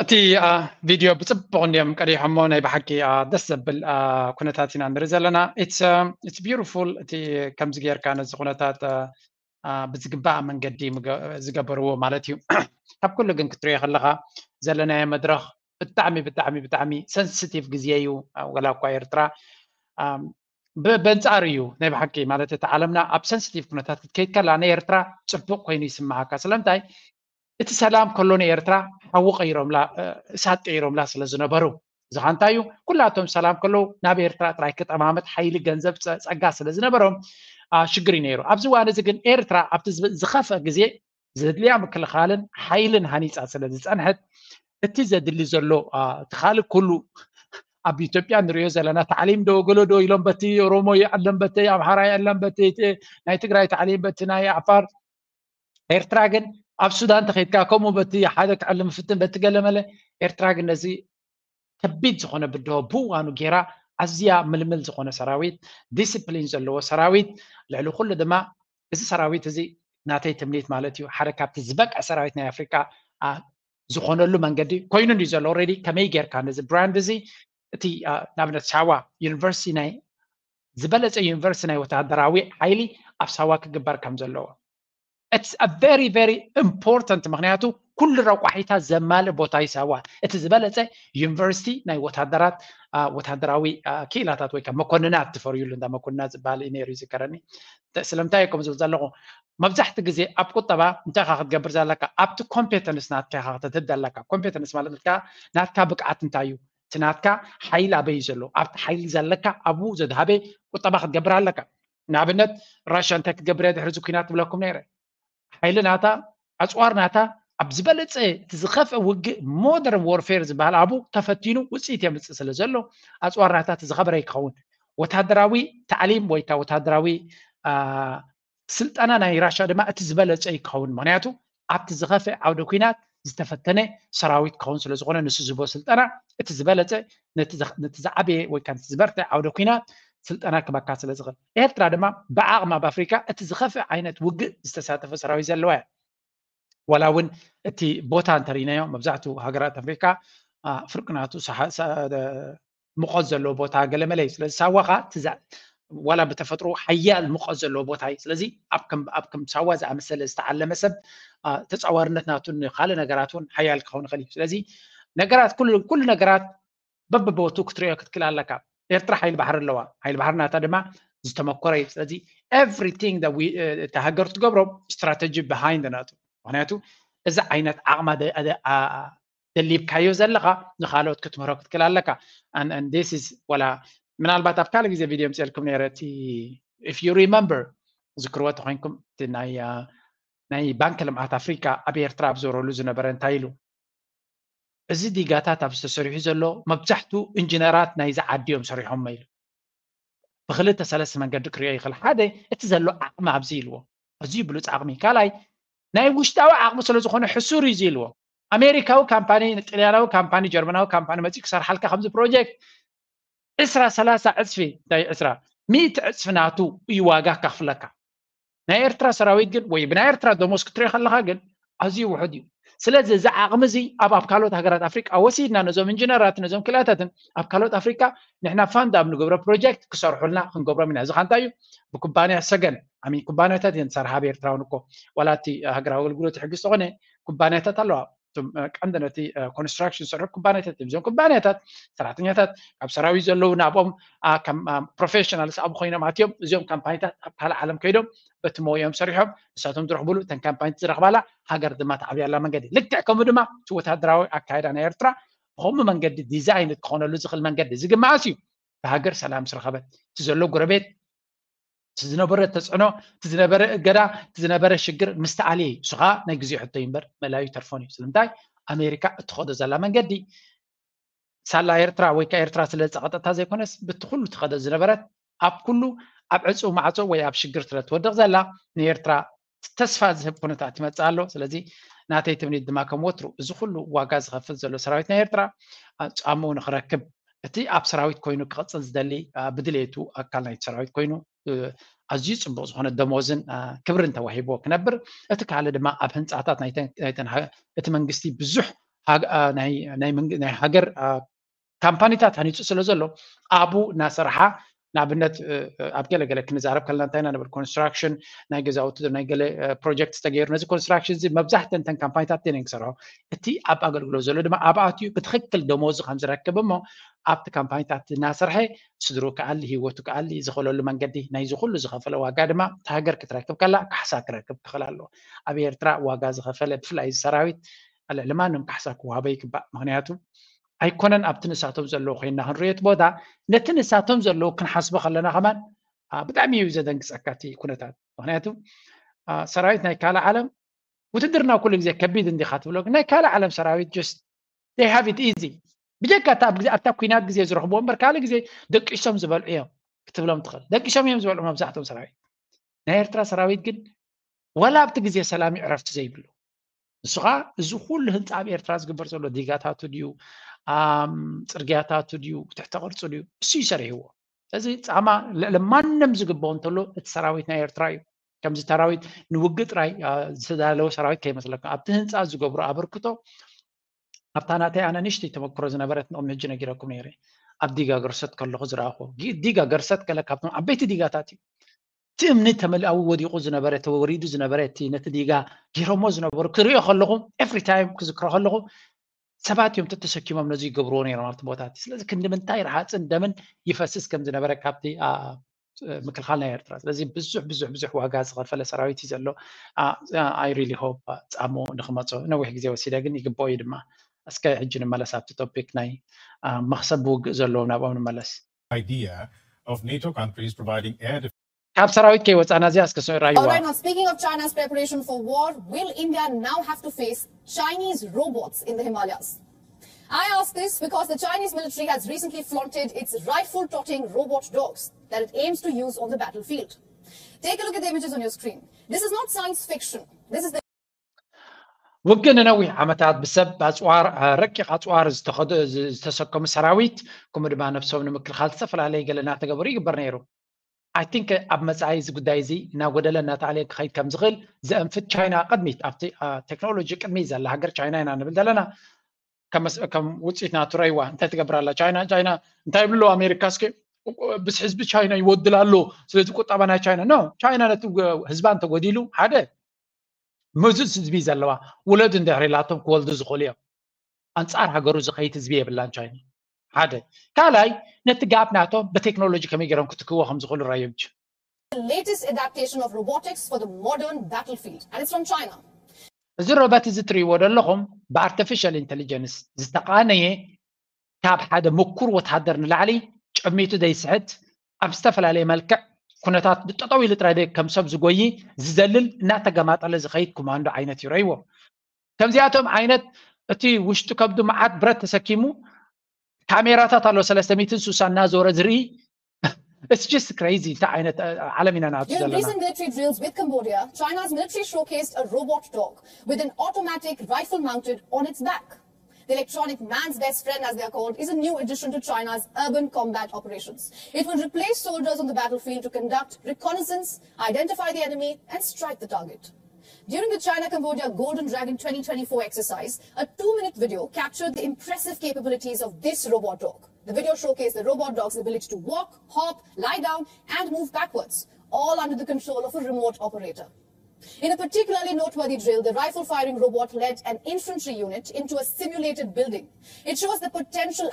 እቲ ቪድዮ ብፅቡቕ እንዲዮም ቀዲሖሞ። ናይ ብሓቂ ደስ ዘብል ኩነታት ኢና ንርኢ ዘለና። It's beautiful። እቲ ከምዚ ጌርካ ነዚ ኩነታት ብዝግባእ መንገዲ ዝገበርዎ ማለት እዩ። ካብ ኩሉ ግን ክትሪኦ ከለኻ ዘለናዮ መድረኽ ብጣዕሚ ብጣዕሚ ብጣዕሚ ሰንስቲቭ ግዜ እዩ። ወላ እኳ ኤርትራ በንፃር እዩ ናይ ብሓቂ ማለት እቲ ዓለምና ኣብ ሰንስቲቭ ኩነታት ክትከይድ ከላ ናይ ኤርትራ ፅቡቕ ኮይኑ ይስምዓካ። ስለምንታይ እቲ ሰላም ከሎ ንኤርትራ ሓዊ ቀይሮምላ እሳት ቀይሮምላ ስለ ዝነበሩ እዚ ኸ እንታይ እዩ? ኩላቶም ሰላም ከለዉ ናብ ኤርትራ ጥራይ ክጠማመት ሓይሊ፣ ገንዘብ፣ ጸ-፣ ጸጋ ስለ ዝነበሮም፣ አ፣ ሽግር እዩ ነይሩ። ኣብዚ እዋን እዚ ግን ኤርትራ ኣብቲ ዝብ-፣ ዝኸፍአ ግዜ ዘድልያ ምክልኻልን ሓይልን ሃኒጻ ስለ ዝጸንሐት፣ እቲ ዘድሊ ዘሎ፣ አ፣ እቲ ካልእ ኩሉ ኣብ ኢትዮጵያ ንሪኦ ዘለና ታዕሊም ዶ ገሎ ዶ ኢሎም በቲ ኦሮሞ ይዕለም፣ በቲ ኣምሓራ ይዕለም፣ በቲ ት-፣ ናይ ትግራይ ታዕሊም፣ በቲ ናይ ዓፋር። ኤርትራ ግን ኣብ ሱዳን ተኸይድካ ከምኡ በቲ ሓደ ክዕልም ፍትን በቲ ገለመለ። ኤርትራ ግን ነዚ ከቢድ ዝኾነ ብድሆ ብእዋኑ ጌራ ኣዝያ ምልምል ዝኾነ ሰራዊት፣ ዲስፕሊን ዘለዎ ሰራዊት፣ ልዕሊ ኩሉ ድማ እዚ ሰራዊት እዚ ናተይ ትምኒት ማለት እዩ፣ ሓደ ካብቲ ዝበቅዐ ሰራዊት ናይ ኣፍሪቃ፣ አ፣ ዝኾነሉ መንገዲ ኮይኑ እንድዩ ዘሎ። ኦልሬዲ ከመይ ጌርካ ነዚ ብራንድ እዚ፣ እቲ፣ አ፣ ንኣብነት ሳዋ ዩኒቨርሲቲ ናይ ዝበለጸ ዩኒቨርሲቲ ናይ ወተሃደራዊ ሓይሊ ኣብ ሳዋ ክግበር ከም ዘለዎ። It's a very, very important፣ ምኽንያቱ ኩሉ ረቋሒታት ዘማልእ ቦታ እዩ ሳዋ። እቲ ዝበለጸ ዩኒቨርሲቲ ናይ ወታደራት፣ አ፣ ወታደራዊ፣ አ፣ ክኢላታት ወይ ከዓ መኮንናት ትፈርዩሉ፣ እንዳ መኮንናት ዝበሃል እዩ ነይሩ ይዝከረኒ። ተ-፣ ስለምንታይ እየ ከምኡ ዝብል ዘለኹ? መብዛሕቲ ግዜ ኣብ ቁጠባ እንታይ ኢኻ ክትገብር ዘለካ? ኣብቲ ኮምፔተንስ ናትካ ኢኻ ከተትህድ ኣለካ። ኮምፔተንስ ማለት ናትካ፣ ናትካ ብቅዓት እንታይ እዩ? እቲ ናትካ ሓይሊ ኣበይ እዩ ዘሎ? ኣብቲ ሓይሊ ዘለካ ኣብኡ ዘድሃበ ቁጠባ ክትገብር ኣለካ። ንኣብነት ራሽያ እንታይ ክትገብር እያ ድሕሪ እዚ ኲናት ትብለኩም ነይረ። ሓይሊ ናታ፣ ኣጽዋር ናታ ኣብ ዝበለጸ እቲ ዝኸፍአ ውግእ ሞደርን ዎርፌር ዝበሃል ኣብኡ ተፈቲኑ ውጽኢት የምጽእ ስለ ዘሎ ኣጽዋር ናታ እቲ ዝኸበረ ይኸውን። ወታደራዊ ታዕሊም ወይ ከዓ ወታደራዊ፣ አ፣ ስልጠና ናይ ራሽያ ድማ እቲ ዝበለጸ ይኸውን። ምኽንያቱ ኣብቲ ዝኸፍአ ዓውደ ኲናት ዝተፈተነ ሰራዊት ክኸውን ስለ ዝኾነ ንሱ ዝህቦ ስልጠና እቲ ዝበለጸ ነቲ ዘ-፣ ነቲ ዝዓበየ ወይ ከዓ ነቲ ዝበርትዐ ዓውደ ኲናት ስልጠና ክበካ ስለ ዝኽእል። ኤርትራ ድማ ብዓቕማ ኣብ ኣፍሪካ እቲ ዝኸፍአ ዓይነት ውግእ ዝተሳተፈ ሰራዊት ዘለዋ እያ። ዋላ እውን እቲ ቦታ እንተርኢናዮ መብዛሕትኡ ሃገራት ኣፍሪካ፣ አ፣ ፍርቂ ናቱ ሰሓ-፣ ሰ-፣ ደ-፣ ሙቐት ዘለዎ ቦታ ገለመለ እዩ። ስለዚ ሳዋ ኸዓ እቲ ዛ-፣ ዋላ ብተፈጥሮ ሓያል ሙቐት ዘለዎ ቦታ እዩ። ስለዚ ኣብ ከም፣ ኣብ ከም ሳዋ ዝኣመሰለ ዝተዓለመ ሰብ፣ አ፣ ተጻዋርነት ናቱ ንኻልእ ነገራት እውን ሓያል ክኸውን ይኽእል እዩ። ስለዚ ነገራት ኩሉ፣ ኩሉ ነገራት በብቦቱ ክትሪኦ ክትክእል ኣለካ። ኤርትራ ሓይሊ ባሕሪ ኣለዋ። ሓይሊ ባሕሪ ናታ ድማ ዝተመኮረ እዩ። ስለዚ everything that we፣ እ፣ እታ ሃገር ትገብሮ ስትራተጂ ብሃይንድ ናቱ። ምኽንያቱ እዚ ዓይነት ዓቕማ ደ-፣ ደ-፣ አ-፣ ደሊብካዮ ዘለኻ ንኻልኦት ክትምህሮ ክትክእል ኣለካ። And, and this is ዋላ ምናልባት ኣብ ካልእ ግዜ ቪድዮ ምፅኤልኩም ነይረ እቲ፣ if you remember፣ ዝክርዎ ተኮይንኩም እቲ ናይ፣ አ፣ ናይ ባንክ ልምዓት ኣፍሪካ ኣብ ኤርትራ ኣብ ዘውረሉ ዝነበረ እንታይ ኢሉ? እዚ ዲጋታት ኣብ ዝተሰሪሑ ዘሎ መብዛሕቱ ኢንጂነራት ናይዚ ዓዲ እዮም ሰሪሖሞ ኢሉ። ብክልተ ሰለስተ መንገዲ ክሪኦ ይኽእል። ሓደ፣ እቲ ዘሎ ዓቕሚ ኣብዚ ኢልዎ፣ ኣዝዩ ብሉፅ ዓቕሚ። ካልኣይ፣ ናይ ውሽጣዊ ዓቕሚ ስለ ዝኾነ ሕሱር እዩ እዚ ኢልዎ። ኣሜሪካዊ ካምፓኒ፣ ጥልያናዊ ካምፓኒ፣ ጀርመናዊ ካምፓኒ መፂኡ ክሰርሓልካ ከምዚ ፕሮጀክት ዕስራ ሰላሳ ዕፅፊ፣ እንታይ ዕስራ፣ ሚእቲ ዕፅፊ ናቱ እዩ ዋጋ ከኽፍለካ። ናይ ኤርትራ ሰራዊት ግን ወይ ብናይ ኤርትራ ደሞዝ ክትሪኦ ከለኻ ግን ኣዝዩ ውሑድ እዩ። ስለዚ እዚ ዓቕሚ እዚ ኣብ፣ ኣብ ካልኦት ሃገራት ኣፍሪቃ ወሲድና ነዞም ኢንጂነራት ነዞም ክልኣታትን ኣብ ካልኦት ኣፍሪቃ ንሕና ፋንድ ኣብ ንገብሮ ፕሮጀክት ክሰርሑልና ክንገብሮም ኢና። እዚ ኸ እንታይ እዩ? ብኩባንያ ሰገን፣ ኣሚን ኩባንያታት እየን ዝሰርሓ ኣብ ኤርትራ እውን እኮ ዋላ እቲ ሃገራዊ ኣገልግሎት ሕጊ ዝተኾነ ኩባንያታት ኣለዋ። እቶም፣ እ፣ ቀንዲ ነቲ፣ እ፣ ኮንስትራክሽን ዝሰርሑ ኩባንያታት እዮም። እዞም ኩባንያታት ሰራሕተኛታት ካብ ሰራዊት ዘለዉ ናብኦም፣ አ፣ ከም፣ አ፣ ፕሮፌሽናልስ ኣብኡ ኮይኖም ኣትዮም እዚኦም ካምፓኒታት ኣብ ካልእ ዓለም ከይዶም በቲ ሞይኦም ሰሪሖም ንሳቶም ዝረኽብሉ እተን ካምፓኒት ዝረኽባላ ሃገር ድማ ተዓብያላ መንገዲ። ልክዕ ከምኡ ድማ እቲ ወታደራዊ ኣካይዳ ናይ ኤርትራ ብኸምኡ መንገዲ ዲዛይን ክኾነሉ ዝኽእል መንገዲ እዚ ግማኣስ እዩ። ብሃገር ሰላም ዝረኸበት እቲ ዘሎ ጎረቤት እቲ ዝነበረ ተፅዕኖ፣ እቲ ዝነበረ እገዳ፣ እቲ ዝነበረ ሽግር ምስ ተኣልየ እዩ። እሱ ኸዓ ናይ ግዜ ሕቶ እዩ እምበር መላዩ ተርፎን እዩ። ስለምንታይ? ኣሜሪካ እትኸዶ ዘላ መንገዲ ሳላ ኤርትራ ወይ ከዓ ኤርትራ ስለ ዝፀቐጠታ ዘይኮነስ፣ ብቲ ኩሉ ትኸዶ ዝነበረት ኣብ ኩሉ ኣብ ዕፁው ማዕፆ ወይ ኣብ ሽግር ስለ ትወድቕ ዘላ ንኤርትራ ተስፋ ዝህብ ኩነታት ይመፅእ ኣሎ። ስለዚ ናተይ ትምኒት ድማ ከም ወትሩ እዚ ኩሉ ዋጋ ዝኸፍል ዘሎ ሰራዊት ናይ ኤርትራ፣ አ፣ ጫምኡ ንኽረክብ እቲ ኣብ ሰራዊት ኮይኑ ክቕጽል ዝደሊ፣ አ፣ ብድሌቱ ኣካል ናይቲ ሰራዊት ኮይኑ፣ እ፣ ኣዝዩ ጽቡቕ ዝኾነ ደሞዝን፣ አ፣ ክብርን ተዋሂብዎ ክነብር፣ እቲ ካልእ ድማ ኣብ ህንጻታት ናይተን፣ ናይተን ሃ-፣ እቲ መንግስቲ ብዙሕ ሃግ-፣ አ፣ ናይ፣ ናይ መንግ-፣ ናይ ሃገር፣ አ፣ ካምፓኒታት ሃኒጹ ስለ ዘሎ ኣብኡ እናሰርሓ ንኣብነት፣ እ፣ እ፣ ኣብ ገለ ገለ ክንዛረብ ከለና እንታይ ኢና ንብል? ኮንስትራክሽን ናይ ገዛውቲ፣ ናይ ገለ፣ እ፣ ፕሮጀክት ዝተገይሩ፣ ነዚ ኮንስትራክሽን እዚ መብዛሕተን እተን ካምፓኒታት እተን እየን ክሰርሖ። እቲ ኣብ ኣገልግሎት ዘሎ ድማ ኣብኣትዩ ብትኽክል ደሞዙ ከም ዝረክብ እሞ ኣብቲ ካምፓኒታት እናሰርሐ ስድሩ ክኣሊ፣ ህይወቱ ክኣሊ ዝኽእለሉ መንገዲ ናይዚ ኩሉ ዝኸፈለ ዋጋ ድማ እታ ሃገር ክትረክብ ከላ ካሕሳ ክረክብ ክኽእል ኣለዎ። ኣብ ኤርትራ ዋጋ ዝኸፈለ ብፍላይ እዚ ሰራዊት ልዕሊ ማንም ካሕሳ ክወሃቦ ይግባእ። ምኽንያቱ ኣይኮነን ኣብቲ ንሳቶም ዘለዉ ኮይና ክንሪኦ እቲ ቦታ፣ ነቲ ንሳቶም ዘለዉ ክንሓስቦ ከለና ከማን ብጣዕሚ እዩ ዘደንግፀካ እቲ ኩነታት። ምክንያቱ ሰራዊት ናይ ካልእ ዓለም ውትድርና ኩሉ ግዜ ከቢድ እንዲኻ ትብሎ፣ ናይ ካልእ ዓለም ሰራዊት just they have it easy። ብጀካ ኣብታ ኩናት ግዜ ዝረኽብዎ እምበር ካልእ ግዜ ደቂሶም ዝበልዑ እዮም ክትብሎም ትኽእል። ደቂሶም እዮም ዝበልዑ መብዛሕትኦም ሰራዊት። ናይ ኤርትራ ሰራዊት ግን ወላ ኣብቲ ግዜ ሰላም እዩ ዕረፍቲ ዘይብሉ። ንሱ ከዓ እዚ ኩሉ ህንፃ ኣብ ኤርትራ ዝግበር ዘሎ ዲጋታቱ ድዩ፣ ጽርግያታቱ ድዩ፣ ትሕተ ቅርፂ ድዩ፣ እሱ እዩ ሰሪሕዎ። ስለዚ ፃማ ልዕሊ ማንም ዝግበኦ እንተሎ እቲ ሰራዊት ናይ ኤርትራ እዩ። ከምዚ ሰራዊት ንውግእ ጥራይ ዝተዳለወ ሰራዊት ከይመስለኩም፣ ኣብቲ ህንፃ ዝገብሮ ኣበርክቶ ኣብታ ናተይ ኣነ ንእሽተይ ተመክሮ ዝነበረት ንቕድሚ ሕጂ ነጊረኩም ነይረ። ኣብ ዲጋ ገርሰት ከለኹ ዝረኣኹ ዲጋ ገርሰት ገለ ካብቶም ዓበይቲ ዲጋታት እዩ። እቲ እምኒ ተመሊኣዊ ወዲቑ ዝነበረ ተወሪዱ ዝነበረ እቲ ነቲ ዲጋ ገይሮሞ ዝነበሩ ክሪኦ ከለኹ every time ክዝክሮ ከለኹ ሰባት እዮም ተተሰኪሞም ነዚ ይገብርዎ ነይሮም ኣብቲ ቦታ እቲ። ስለዚ ክንዲ ምንታይ ረሃፅን ደምን ይፈስስ ከም ዝነበረ ካብቲ ምክልኻል ናይ ኤርትራ። ስለዚ ብዙሕ ብዙሕ ብዙሕ ዋጋ ዝኸፈለ ሰራዊት እዩ ዘሎ። I really hope ፃሞ ንክመፆ ነዊሕ ግዜ ወሲደ ግን ይግብኦ እዩ ድማ። እስከ ሕጂ ንመለስ ኣብቲ ቶፒክ ናይ መክሰብ ውግእ ዘለዎም ናብኦም ንመለስ። Idea of NATO countries providing air defense. ካብ ሰራዊት ከይወፃና እዚኣ እስከ ራይዋ። Alright, now speaking of China's preparation for war, will India now have to face Chinese robots in the Himalayas? I ask this because the Chinese military has recently flaunted its rifle-toting robot dogs that it aims to use on the battlefield. Take a look at the images on your screen. This is not science fiction. This is the ውግእ ንነዊሕ ዓመታት ብሰብ ኣፅዋር ረቂቕ ኣፅዋር ዝተሰከሙ ሰራዊት ከምኡ ድማ ነብሶም ንምክልኻል ዝተፈላለየ ገለ እናተገበሩ ይግበር ነይሩ። I think ኣብ መፃኢ እዚ ጉዳይ እዚ እናጎደለ እናተኣለየ ክኸይድ ከም ዝኽእል ዘእንፍት ቻይና ቅድሚት ኣብቲ ቴክኖሎጂ ቅድሚት ዘላ ሃገር ቻይና ኢና ንብል ዘለና። ከም ውፅኢት ናቱ ረይዋ እንታይ ትገብር ኣላ ቻይና? ቻይና እንታይ ይብሉ ኣለዉ ኣሜሪካ እስኪ ብስ ህዝቢ ቻይና ይወድል ኣሎ። ስለዚ ቁጠባ ናይ ቻይና no ቻይና ነቲ ህዝባ እንተጎዲሉ ሓደ ምዙዝ ህዝቢ ዘለዋ ውለዱ እንድሕር ኢላቶም ክወልዱ ዝኽእሉ እዮም። ኣንፃር ሃገሩ ዝኸይድ ህዝቢ የብላን ቻይና ሓደ። ካልኣይ ነቲ ጋፕ ናቶም ብቴክኖሎጂ ከመይ ገይሮም ክትክዎ ከም ዝኽእሉ ራዮም። The latest adaptation of robotics for the modern battlefield, and it's from China. እዚ ሮበት እዚ ትርእይዎ ዘለኹም ብኣርቲፊሻል ኢንቴሊጀንስ ዝተቃነየ ካብ ሓደ ምኩር ወታደር ንላዕሊ ጨሚቱ ዘይስሕት ኣብ ዝተፈላለየ መልክዕ ኩነታት ጠጠው ኢሉ ጥራይ ከም ሰብ ዝጎይ ዝዘልል እናተገማጠለ ዝኸይድ ኮማንዶ ዓይነት እዩ ረይዎ። ከምዚኣቶም ዓይነት እቲ ውሽጢ ከብዱ መዓት ብረት ተሰኪሙ ካሜራታት ኣሎ ሰለስተ ሚእትን ስሳን እናዞረ ዝርኢ it's just crazy እንታይ ዓይነት ዓለም ኢና ናቱ ዘለና። During recent military drills with Cambodia, China's military showcased a robot dog with an automatic rifle mounted on its back. The electronic man's best friend, as they are called, is a new addition to China's urban combat operations. It will replace soldiers on the battlefield to conduct reconnaissance, identify the enemy, and strike the target. During the China Cambodia Golden Dragon twenty twenty-four exercise, a two minute video captured the impressive capabilities of this robot dog. The video showcased the robot dog's ability to walk, hop, lie down, and move backwards, all under the control of a remote operator. In a particularly noteworthy drill, the rifle firing robot led an infantry unit into a simulated building. It shows the potential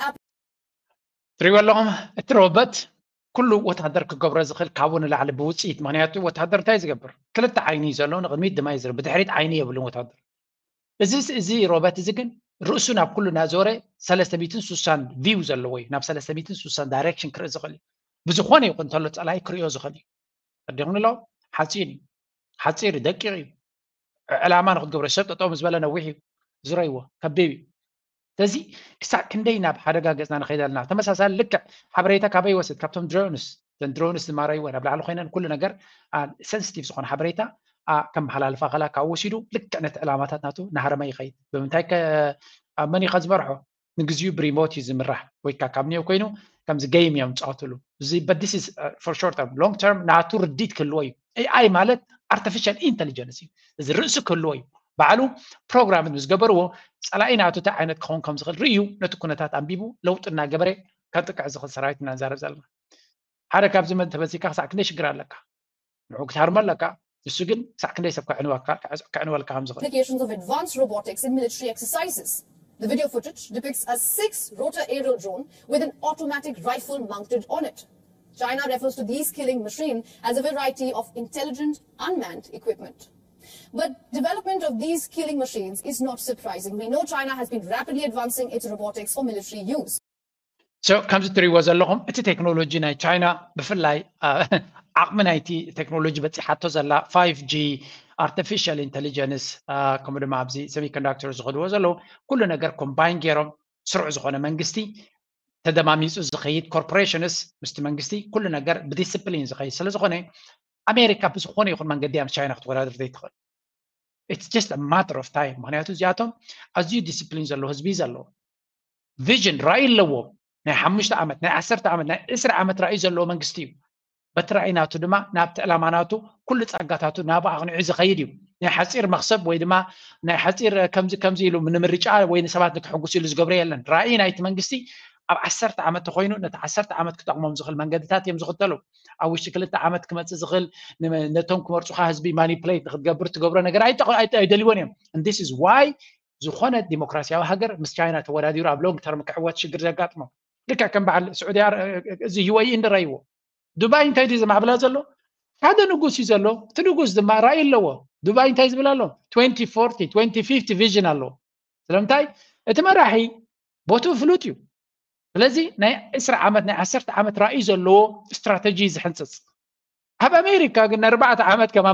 ትሪእዎ ኣለኹም እቲ ሮበት ኩሉ ወታደር ክገብሮ ዝኽእል ካብኡ ንላዕሊ ብውፅኢት ምክንያቱ ወታደር እንታይ ዝገብር ክልተ ዓይኒ እዩ ዘለዎ ንቅድሚት ድማ ይዝር ብድሕሪት ዓይኒ የብሉን ወታደር። እዚ እዚ ሮበት እዚ ግን ርእሱ ናብ ኩሉ እናዞረ ሰለስተ ሚእትን ስሳን ቪው ዘለዎ እዩ ናብ ሰለስተ ሚእትን ስሳን ዳይሬክሽን ክርኢ ዝኽእል እዩ። ብዝኾነ ይኹን እንተሎ ፀላኢ ክሪኦ ዝኽእል እዩ። ቀዲኹም ኣሎ ሓፂር እዩ ሓፂር እዩ ደቂቕ እዩ። ዕላማ ንክትገብሮ ሰብ ጠጠው ምስ በለ ነዊሕ እዩ። ዝረይዎ ከቢብ እዩ። ስለዚ ክሳብ ክንደይ ናብ ሓደጋ ገፅና ንኸይድ ኣለና። ተመሳሳሊ ልክዕ ሓበሬታ ካበይ ይወስድ? ካብቶም ድሮንስ እተን ድሮንስ ዝማረይወ ናብ ላዕሊ ኮይነን ኩሉ ነገር ሰንስቲቭ ዝኾነ ሓበሬታ ከመሓላልፋ ከላ ካብ ወሲዱ ልክዕ ነቲ ዕላማታት ናቱ ናሃረመ ይኸይድ። ብምንታይ መን እዩ ከዝመርሖ? ንግዚኡ ብሪሞት እዩ ዝምራሕ ወይ ከዓ ካብ ኒዮ ኮይኑ ከምዚ ገይም እዮም ዝፃወትሉ እዚ but this is for short term long term ናቱ ርዲት ክህልዎ እዩ። ኤኣይ ማለት ኣርቲፊሻል ኢንቴሊጀንስ እዩ። እዚ ርእሲ ክህልዎ እዩ። ባዕሉ ፕሮግራም ምስ ገበርዎ ፀላኢ ናቱ እንታይ ዓይነት ክኸውን ከም ዝኽእል ርእዩ ነቲ ኩነታት ኣንቢቡ ለውጢ እናገበረ ከጥቅዕ ዝኽእል ሰራዊት ኢና ንዛረብ ዘለና። ሓደ ካብዚ መን ተበዚካ ክሳዕ ክንደይ ሽግር ኣለካ? ንዑ ክትሃርሞ ኣለካ። ንሱ ግን ክሳዕ ክንደይ ሰብ ከዕንወልካ ከም ዝኽእል Applications of advanced robotics in military exercises. The video footage depicts a six rotor aerial drone with an automatic rifle mounted on it. China refers to these killing machine as a variety of intelligent unmanned equipment. But development of these killing machines is not surprising. We know China has been rapidly advancing its robotics for military use. So ከምዚ ትሪእዎ ዘለኹም እቲ ቴክኖሎጂ ናይ ቻይና ብፍላይ ዓቕሚ ናይቲ ቴክኖሎጂ በፂሓቶ ዘላ five G, artificial intelligence, ከምኡ ድማ ኣብዚ semiconductor ዝኸድዎ ዘለዉ ኩሉ ነገር ኮምባይን ገይሮም ስሩዕ ዝኾነ መንግስቲ ተደማሚፁ ዝኸይድ corporations ምስቲ መንግስቲ ኩሉ ነገር ብዲስፕሊን ዝኸይድ ስለዝኾነ ኣሜሪካ ብዝኾነ ይኹን መንገዲ እያ ምስ ቻይና ክትወዳደር ዘይትኽእል። It's just a matter of time። ምክንያቱ እዚኣቶም ኣዝዩ ዲስፕሊን ዘለዎ ህዝቢ ዘለዎ vision ራእይ ኣለዎም። ናይ ሓሙሽተ ዓመት ናይ ዓሰርተ ዓመት ናይ ዕስራ ዓመት ራእይ ዘለዎ መንግስቲ እዩ። በቲ ራእይ ናቱ ድማ ናብቲ ዕላማ ናቱ ኩሉ ጸጋታቱ ናብ ኣቕንዑ ዝኸይድ እዩ። ናይ ሓፂር መክሰብ ወይ ድማ ናይ ሓፂር ከምዚ ከምዚ ኢሉ ንምርጫ ወይ ንሰባት ንክሕጉስ ኢሉ ዝገብሮ የለን። ራእይ ናይቲ መንግስቲ ኣብ ዓሰርተ ዓመት ተኮይኑ ነቲ ዓሰርተ ዓመት ክጠቕሞም ዝኽእል መንገድታት እዮም ዝኽተሉ። ኣብ ውሽጢ ክልተ ዓመት ክመፅእ ዝኽእል ነቶም ክመርፁኻ ህዝቢ ማኒፕሌት ንክትገብር ትገብሮ ነገር ኣይደልዎን እዮም። This is why ዝኾነ ዲሞክራሲያዊ ሃገር ምስ ቻይና ተወዳዲሩ ኣብ long term ክዕወት ሽግር ዘጋጥሞ ልክዕ ከም በዓል ስዑዲ እዚ UAE እንድረይዎ ዱባይ እንታይ ድዩ ዘማዕብላ ዘሎ ሓደ ንጉስ እዩ ዘሎ። እቲ ንጉስ ድማ ራእይ ኣለዎ። ዱባይ እንታይ ዝብል ኣሎ twenty forty twenty fifty vision ኣለዎ። ስለምንታይ እቲ መራሒ ቦትኡ ፍሉጥ እዩ። ስለዚ ናይ ዕስራ ዓመት ናይ ዓሰርተ ዓመት ራእይ ዘለዎ ስትራተጂ ዝሕንፅፅ ኣብ ኣሜሪካ ግን ንኣርባዕተ ዓመት ከማ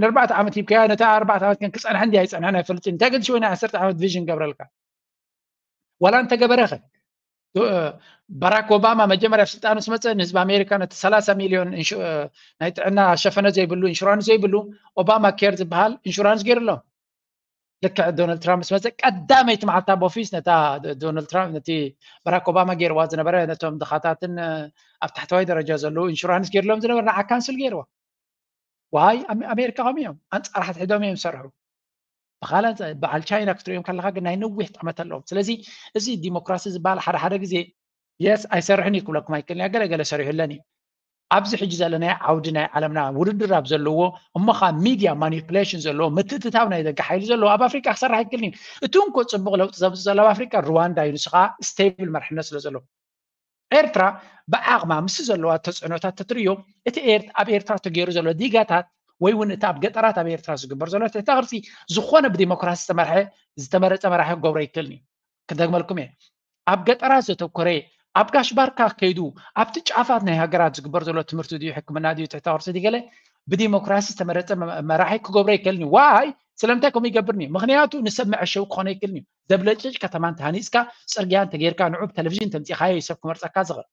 ንኣርባዕተ ዓመት ሂብካያ ነታ ኣርባዕተ ዓመት ግን ክፀንሐ እንዲ ኣይፀንሐን ኣይፈልጥን እንታይ ግን ሽወ ናይ ዓሰርተ ዓመት ቪዥን ገብረልካ ዋላ እንተገበረኸ ባራክ ኦባማ መጀመርያ ኣብ ስልጣኑ ስመፀ ንህዝቢ ኣሜሪካ ነቲ ሰላሳ ሚሊዮን ናይ ጥዕና ሸፈነ ዘይብሉ ኢንሹራንስ ዘይብሉ ኦባማ ኬር ዝበሃል ኢንሹራንስ ገይርሎም። ልክዕ ዶናልድ ትራምፕ ስመፀ ቀዳመይቲ መዓልታ ኣብ ኦፊስ ነታ ዶናልድ ትራምፕ ነቲ ባራክ ኦባማ ገይርዋ ዝነበረ ነቶም ድኻታትን ኣብ ታሕተዋይ ደረጃ ዘለዉ ኢንሹራንስ ገይርሎም ዝነበረ ንዓ ካንስል ገይርዋ። ዋይ ኣሜሪካ ከም እዮም ኣንፃር ሕድሕዶም እዮም ዝሰርሑ። ብካላ በዓል ቻይና ክትሪኦም ከለካ ግን ናይ ነዊሕ ጠመት ኣለዎም። ስለዚ እዚ ዲሞክራሲ ዝበሃል ሓደ ሓደ ግዜ የስ ኣይሰርሕን እዩ ክብለኩም ኣይክእልን እያ። ገለገለ ሰሪሑ ኣለኒ። ኣብዚ ሕጂ ዘለናዮ ዓውዲ ናይ ዓለምና ውድድር ኣብ ዘለዎ እሞ ከዓ ሚድያ ማኒፕሌሽን ዘለዎ ምትእትታው ናይ ደገ ሓይሊ ዘለዎ ኣብ ኣፍሪቃ ክሰርሕ ኣይክእልን እዩ። እቲ እንኮ ፅቡቅ ለውጢ ዘምፅእ ዘሎ ኣብ ኣፍሪቃ ሩዋንዳ እዩ። ንሱ ከዓ ስቴብል መርሕነት ስለ ዘለዎ ኤርትራ ብዓቕማ ምስ ዘለዋ ተፅዕኖታት ተትርእዮ እቲ ኣብ ኤርትራ ተገይሩ ዘሎ ዲጋታት ወይ እውን እቲ ኣብ ገጠራት ኣብ ኤርትራ ዝግበር ዘሎ ትሕተ ቅርፂ ዝኾነ ብዲሞክራሲ ዝተመርሐ ዝተመረፀ መራሒ ክገብሮ ኣይክእልን እዩ። ክደግመልኩም እየ ኣብ ገጠራት ዘተኮረ ኣብ ጋሽ ባርካ ከይዱ ኣብቲ ጫፋት ናይ ሃገራት ዝግበር ዘሎ ትምህርቲ ድዩ ሕክምና ድዩ ትሕተ ቅርፂ ድዩ ገለ ብዲሞክራሲ ዝተመረፀ መራሒ ክገብሮ ኣይክእልን እዩ። ዋይ ስለምንታይ ከምኡ ይገብርኒ ምክንያቱ ንሰብ መዐሸዊ ክኾነ ኣይክእልን እዩ። ዘብለጭልጭ ከተማ እንተሃኒፅካ ፅርግያ እንተጌርካ ንዑ ብቴሌቪዥን ተምፂኻዮ እዩ ሰብ ክመርፀካ ዝኽእል።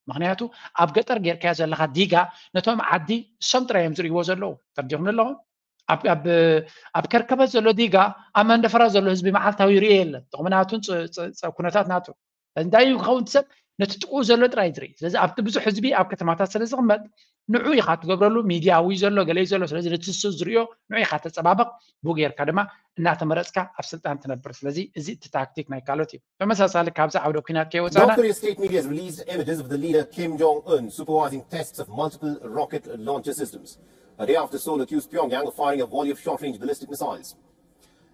ምክንያቱ ኣብ ገጠር ጌርካዮ ዘለካ ዲጋ ነቶም ዓዲ እሶም ጥራይ እዮም ዝርእይዎ ዘለዉ። ተረዲኹም ኣለኹም? ኣብ ከርከበት ዘሎ ዲጋ ኣብ መንደፈራ ዘሎ ህዝቢ መዓልታዊ ይርእዮ የለን። ጥቕሚ ናቱን ኩነታት ናቱ እንታይ እዩ ክኸውን ሰብ ነቲ ጥቅኡ ዘሎ ጥራይ ዝርኢ። ስለዚ ኣብቲ ብዙሕ ህዝቢ ኣብ ከተማታት ስለ ዝቕመጥ ንዑ ኢኻ ትገብረሉ። ሚድያ ውይ ዘሎ ገለ እዩ ዘሎ። ስለዚ ነቲ ንሱ ዝርእዮ ንዑ ኢኻ ተፀባበቕ። ብኡ ጌርካ ድማ እናተመረፅካ ኣብ ስልጣን ትነብር። ስለዚ እዚ እቲ ታክቲክ ናይ ካልኦት እዩ። ተመሳሳሊ ካብዚ ዓውደ ኲናት ከይወፃና North Korea's state media has released images of the leader Kim Jong-un supervising tests of multiple rocket launcher systems. A day after Seoul accused Pyongyang of firing a volley of short-range ballistic missiles.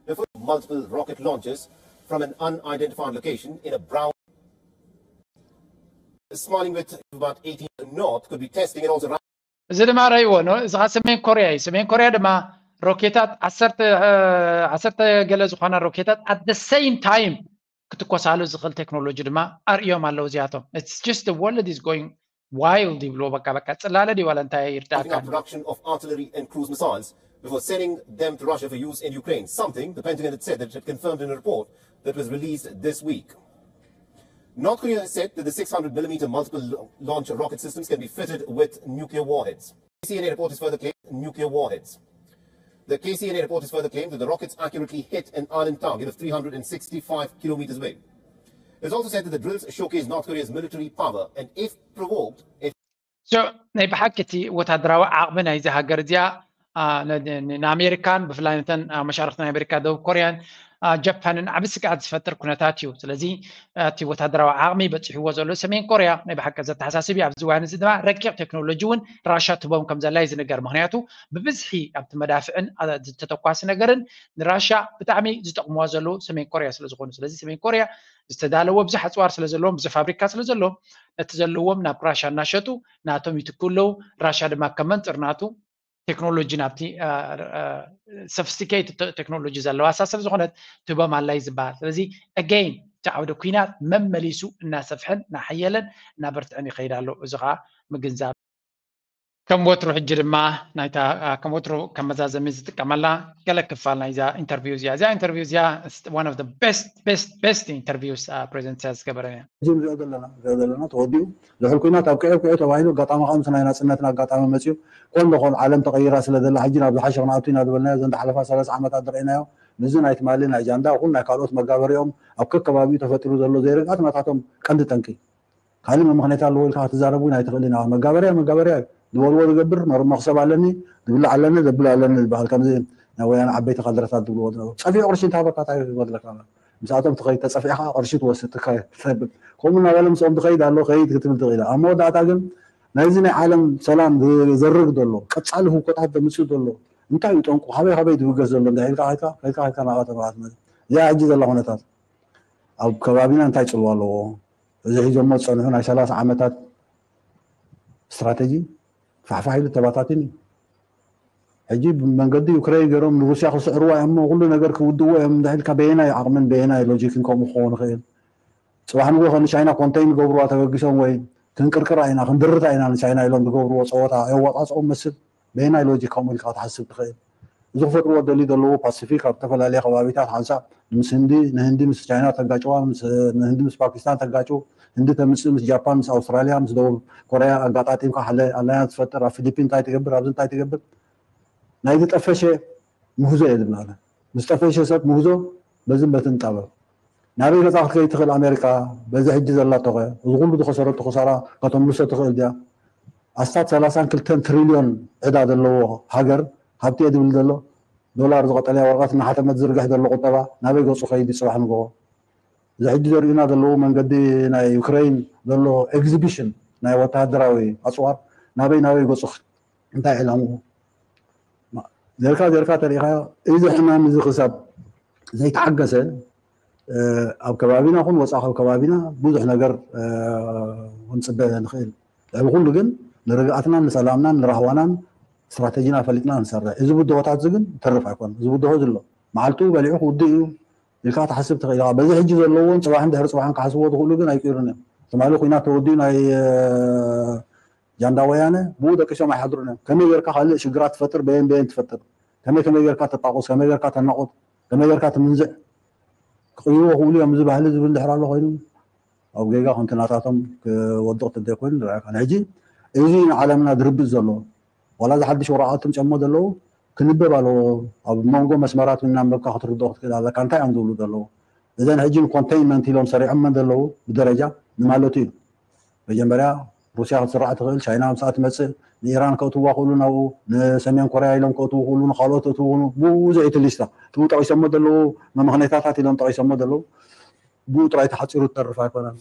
The first multiple rocket launchers from an unidentified location in a brown smiling with about eighteen north could be testing and also እዚ ድማ ረይዎ ነው። እዚ ከዓ ሰሜን ኮርያ እዩ። ሰሜን ኮርያ ድማ ሮኬታት ዓሰርተ ገለ ዝኾና ሮኬታት at the same time ክትኮሳሉ ዝኽእል ቴክኖሎጂ ድማ ኣርእዮም ኣለዉ እዚኣቶም። It's just the world is going wild ይብልዎ። በቃ በቃ ፅላለ ድዩ ዋላ እንታይ ይርዳእካ። Production of artillery and cruise missiles before sending them to Russia for use in Ukraine, something the Pentagon had said that it had confirmed in a report that was released this week. North Korea has said that the six hundred millimeter multiple launch rocket systems can be fitted with nuclear warheads. KCNA reporters further claim nuclear warheads. The KCNA reporters further claim that the rockets accurately hit an island target of three hundred and sixty-five kilometers away. It's also said that the drills showcase North Korea's military power and if provoked, if So ናይ ብሓቂ እቲ ወታደራዊ ዓቕሚ ናይዚ ሃገር እዚኣ ንኣሜሪካን ብፍላይ ነተን መሻርክቲ ናይ ኣሜሪካ ደቡብ ኮርያን ጃፓንን ዓቢ ስግኣት ዝፈጥር ኩነታት እዩ። ስለዚ እቲ ወታደራዊ ዓቕሚ በፂሕዎ ዘሎ ሰሜን ኮርያ ናይ ብሓቂ ዘተሓሳስብ እዩ። ኣብዚ እዋን እዚ ድማ ረቂቕ ቴክኖሎጂ እውን ራሻ ትቦም ከም ዘላ እዩ ዝንገር። ምክንያቱ ብብዝሒ ኣብቲ መዳፍዕን ዝተተኳሲ ነገርን ንራሻ ብጣዕሚ ዝጠቕምዋ ዘለዉ ሰሜን ኮርያ ስለ ዝኾኑ። ስለዚ ሰሜን ኮርያ ዝተዳለወ ብዙሕ ኣፅዋር ስለ ዘለዎም ብዙሕ ፋብሪካ ስለ ዘለዎም ነቲ ዘለዎም ናብ ራሻ እናሸጡ ናቶም ይትክኡ ኣለዉ። ራሻ ድማ ከም መንፅር ናቱ ቴክኖሎጂ ናብቲ sophisticated ቴክኖሎጂ ዘለዋ እሳ ሰብ ዝኾነት ትህቦም ኣላ እዩ ዝበሃል። ስለዚ again እቲ ዓውደ ኲናት መመሊሱ እናሰፍሐን እናሓየለን እናበርትዐን ይኸይድ ኣሎ። እዚ ከዓ ምግንዛብ ከም ወትሩ ሕጂ ድማ ናይታ ከም ወትሩ ከም መዛዘሚ ዝጥቀመላ ገለ ክፋል ናይዛ ኢንተርቪው እዚኣ እዚኣ ኢንተርቪው እዚኣ one of the best best best interviews ፕሬዚደንት ኢሳያስ ዝገበረ እያ። ሕጂ ንሪኦ ዘለና ንሪኦ ዘለና ተወዲኡ ዝሑል ኩናት ኣብ ቅዕብ ቅዕብ ተባሂሉ ኣጋጣሚ ከዓ ምስ ናይ ናፅነትና ኣጋጣሚ መፅዩ ኮን ዶ ኮን ዓለም ተቐይራ ስለ ዘላ ሕጂ ናብ ዝሓሸ ክንኣቱ ኢና ዝበልናዮ ዘን ዝሓለፋ ሰላሳ ዓመታት ዝረእናዮ ምስዚ ናይ ትማሊ ናይ ጃንዳ ይኹን ናይ ካልኦት መጋበሪኦም ኣብ ከከባቢኡ ተፈጢሩ ዘሎ ዘይርግኣት ናታቶም ቀንዲ ጠንቂ ካልእ መምኽነያት ኣለዎ ኢልካ ክትዛረብ እውን ኣይትኽእልን ኢኻ። መጋበርያ መጋበርያ እዩ። ዝበልዎ ዝገብር መር- መኽሰብ ኣለኒ ዝብላዕ ኣለኒ ዘብል ኣለኒ ዝበሃል ከምዚ ናይ ወያነ ዓበይቲ ካድረታት ዝብልዎ ዝነበሩ ጸፊዑ ቅርሺ እንተሃበካ እንታይ ክበድለካ ኣሎ? ምስኣቶም ትኸይድ ተጸፊዕኻ ቅርሺ ትወስድ ትካየድ ትሰብል ከምኡ እናበለ ምስኦም ትኸይድ ኣሎ ከይድ ክትብል ትኽእል ኢኻ። ኣብ መወዳእታ ግን ናይዚ ናይ ዓለም ሰላም ዝዘርግ ዘሎ ቀጻሊ ህውኮታት ዘምጽእ ዘሎ እንታይ እዩ ጠንቁ ካበይ ካበይ ዝብገስ ዘሎ እንታይ ኢልካ ከይድካ ከይድካ ከይድካ ናብኣ ተባዕት ማለት እዚኣ ሕጂ ዘላ ኩነታት ኣብ ከባቢና እንታይ ጽልዋ ኣለዎ? እዚ ሒዞሞ ዝጸንሑ ናይ ሰላሳ ዓመታት ስትራተጂ ፋሕፋሕ ኢሉ ተባታትን እዩ። ሕጂ ብመንገዲ ዩክሬን ገይሮም ንሩስያ ክስዕርዋ እዮም እሞ ኩሉ ነገር ክውድእዎ እዮም እንዳኢልካ በየናይ ዓቕምን በየናይ ሎጂክን ከምኡ ክኸውን ይኽእል? ጽባሕ ንግሆ ከ ንቻይና ኮንተይን ዝገብርዋ ተበጊሶም ወይ ክንቅርቅራ ኢና ክንድርታ ኢና ንቻይና ኢሎም ዝገብርዎ ጸወታ የዋጻጽኦም መስል በየናይ ሎጂክ ከምኡ ኢልካ ክትሓስብ ትኽእል? እዚ ክፈጥርዎ ደልዩ ዘለዉ ፓሲፊክ ኣብ ዝተፈላለየ ከባቢታት ሓንሳብ ምስ ህንዲ ንህንዲ ምስ ቻይና ተጋጭዋ ንህንዲ ምስ ፓኪስታን ተጋጭው ህንዲ ተምፅእ ምስ ጃፓን ምስ ኣውስትራሊያ ምስ ደቡብ ኮርያ ኣጋጣጢምካ ሓደ ኣላያንስ ትፈጥር ኣብ ፊሊፒን እንታይ ትገብር ኣብዚ እንታይ ትገብር ናይ ዝጠፈሸ ምህዞ እየ ዝብላለ ምስ ጠፈሸ ሰብ ምህዞ በዝን በትን ጣበብ ናበይ ገፃ ክትከይድ ትኽእል ኣሜሪካ በዚ ሕጂ ዘላቶኸ እዚ ኩሉ ዝኸሰረቶ ክሳራ ከተምልሶ ትኽእል ድያ ኣስታት ሰላሳን ክልተን ትሪልዮን ዕዳ ዘለዎ ሃገር ሃብቲ እየ ዝብል ዘሎ ዶላር ዝቐጠለያ ወረቐት እናሓተመት ዝርግሕ ዘሎ ቁጠባ ናበይ ገፁ ከይድ እዩ ፅባሕ ንግሆ እዚ ሕጂ ዘርእዩና ዘለዉ መንገዲ ናይ ዩክረይን ዘሎ ኤግዚቢሽን ናይ ወተሃደራዊ ኣፅዋር ናበይ ናበይ ገፁ እንታይ ዕላምኡ ዜርካ ዜርካ ተሪኢኻዮ እዚ ሕማም እዚ ክሳብ ዘይተሓገሰ ኣብ ከባቢና ኹን ወፃኢ ካብ ከባቢና ብዙሕ ነገር ክንፅበ ንኽእል ልዕሊ ኩሉ ግን ንርግኣትናን ንሰላምናን ንራህዋናን ስትራተጂና ፈሊጥና ንሰርሕ እዚ ብድሆታት እዚ ግን ተርፍ ኣይኮነ እዚ ብድሆ ዝሎ መዓልቱ በሊዑ ክውድእ እዩ ኢልካ ትሓስብ ትኽእል ኢኻ በዚ ሕጂ ዘለዎም ፅባሕን ድሕሪ ፅባሕን ክሓስብዎ ዝኽእሉ ግን ኣይቅይሩን እዮም ትማሊ ኩናት ተወዲኡ ናይ ጃንዳ ወያነ ብኡ ደቂሶም ኣይሓድሩን እዮም ከመይ ጌርካ ካልእ ሽግራት ትፈጥር በየን በየን ትፈጥር ከመይ ከመይ ጌርካ ተጣቁስ ከመይ ጌርካ ተናቁት ከመይ ጌርካ ትምንዝዕ ክቕይርዎ ክብሉ እዮም እዚ ባህሊ ዝብል ድሕር ኣሎ ኮይኑ ኣብ ጌጋ ከምቲ ናታቶም ክወድቕ ተደይ ኮይኑ ንርኣካ ሕጂ እዚ ንዓለምና ድርብፅ ዘሎ ዋላ እዚ ሓድሽ ወረቓት ትምፅኦሞ ዘለዉ ክንበብ ኣለዎ ኣብ መንጎ መስመራት እናንበብካ ክትርድኦ ክትክእል ኣለካ እንታይ እዮም ዝብሉ ዘለዉ እዘን ሕጂ ንኮንቴይንመንት ኢሎም ሰሪዖመን ዘለዉ ብደረጃ ንማለቱ እዩ መጀመርያ ሩስያ ክትስራዕ ትኽእል ቻይና ምሳኣ ትመፅእ ንኢራን ከእትዋ ክእሉ ናብኡ ንሰሜን ኮርያ ኢሎም ከእትዉ ክእሉ ንካልኦት እትዉ ብዙሕ እቲ ሊስታ ትው ጠቂሶሞ ዘለዉ መመኽነይታታት ኢሎም ጠቂሶሞ ዘለዉ ብኡ ጥራይ ተሓፂሩ ትተርፍ ኣይኮነን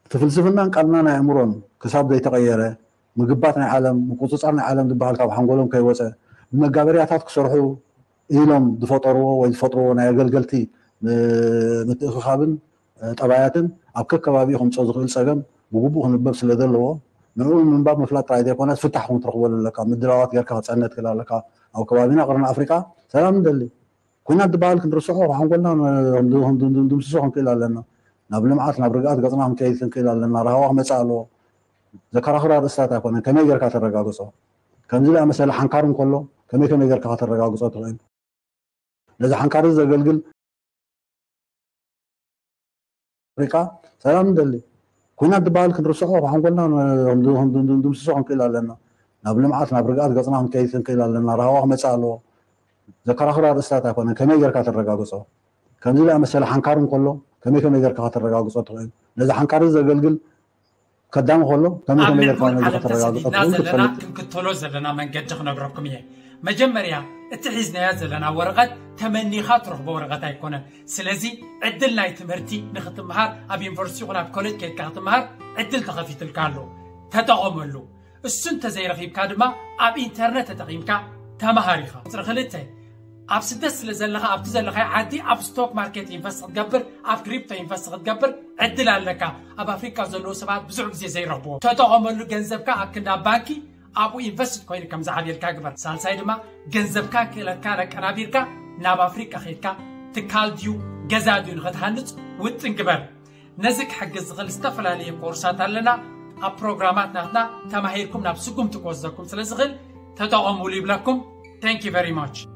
እቲ ፍልስፍናን ቃልና ናይ ኣእምሮን ክሳብ ዘይተቐየረ ምግባት ናይ ዓለም ምቁፅፃር ናይ ዓለም ዝበሃል ካብ ሓንጎሎም ከይወፀ ብመጋበርያታት ክሰርሑ ኢሎም ዝፈጠርዎ ወይ ዝፈጥርዎ ናይ ኣገልገልቲ ምትእኽኻብን ጠባያትን ኣብ ከከባቢኡ ከምፅኦ ዝኽእል ፀገም ብግቡእ ክንበብ ስለ ዘለዎ ንዕኡ ንምንባብ ምፍላጥ ጥራይ ዘይኮነስ ፍታሕ እውን ትረኽበሉ ኣለካ ምድላዋት ጌርካ ክፀነ ትክእል ኣለካ ኣብ ከባቢና ቅርኒ ኣፍሪቃ ሰላም ንደሊ ኩናት ዝበሃል ክንርስዖ ሓንጎልና ድምስሶ ክንክእል ኣለና ናብ ልምዓት ናብ ርግኣት ገፅና ክንከይድ ክንክእል ኣለና ራህዋ ክመፅእ ኣለዎ ዘከራኽር ኣርእስታት ኣይኮነን ከመይ ጌርካ ተረጋግፆ ከምዚ ዝኣመሰለ ሓንካር እንከሎ ከመይ ከመይ ጌርካ ከተረጋግፆ ትኽእል ነዚ ሓንካር እዚ ዘገልግል ኣፍሪቃ ሰላም ንደሊ ኩናት ዝበሃል ክንርስዖ ሓንጎልና ድምስሶ ክንክእል ኣለና ናብ ልምዓት ናብ ርግኣት ገፅና ክንከይድ ክንክእል ኣለና ራህዋ ክመፅእ ኣለዎ ዘከራኽር ኣርእስታት ኣይኮነን ከመይ ጌርካ ተረጋግፆ ከምዚ ዝኣመሰለ ሓንካር እንከሎ ከመይ ከመይ ጌርካ ከተረጋግፆ ትኽእል ነዚ ሓንካር እዚ ዘገልግል ከዳሚ ከሎ ከመይ ከመይ ጌርካ ነዚ ከተረጋግፆ ትኽእል ክትፈልጥ ክንክተሎ ዘለና መንገዲ ክነግረኩም እየ መጀመርያ እቲ ሒዝናያ ዘለና ወረቐት ተመኒኻ ትረኽቦ ወረቐት ኣይኮነን ስለዚ ዕድል ናይ ትምህርቲ ንክትምሃር ኣብ ዩኒቨርሲቲ ይኹን ኣብ ኮሌጅ ከይድካ ክትምሃር ዕድል ተኸፊትልካ ኣሎ ተጠቐመሉ እሱ እንተዘይረኺብካ ድማ ኣብ ኢንተርነት ተጠቒምካ ተምሃር ኢኻ ቁፅሪ ክልተ ኣብ ስደት ስለ ዘለኻ ኣብቲ ዘለኻዮ ዓዲ ኣብ ስቶክ ማርኬት ኢንቨስት ክትገብር ኣብ ክሪፕቶ ኢንቨስት ክትገብር ዕድል ኣለካ ኣብ ኣፍሪካ ዘለዉ ሰባት ብዙሕ ግዜ ዘይረኽብዎ ተጠቐመሉ ገንዘብካ ኣብ ክንዲ ኣብ ባንኪ ኣብኡ ኢንቨስት ኮይኑ ከም ዝዓብየልካ ግበር። ሳልሳይ ድማ ገንዘብካ ክእለትካ ነቀናቢርካ ናብ ኣፍሪቃ ከይድካ ትካል ድዩ ገዛ ድዩ ንኸትሃንፅ ውጥን ግበር። ነዚ ክሕግዝ ዝኽእል ዝተፈላለየ ኮርሳት ኣለና። ኣብ ፕሮግራማት ናትና ተማሂርኩም ናብ ስጉምቲ ክወስደኩም ስለ ዝኽእል ተጠቐሙሉ ይብለኩም። Thank you very much።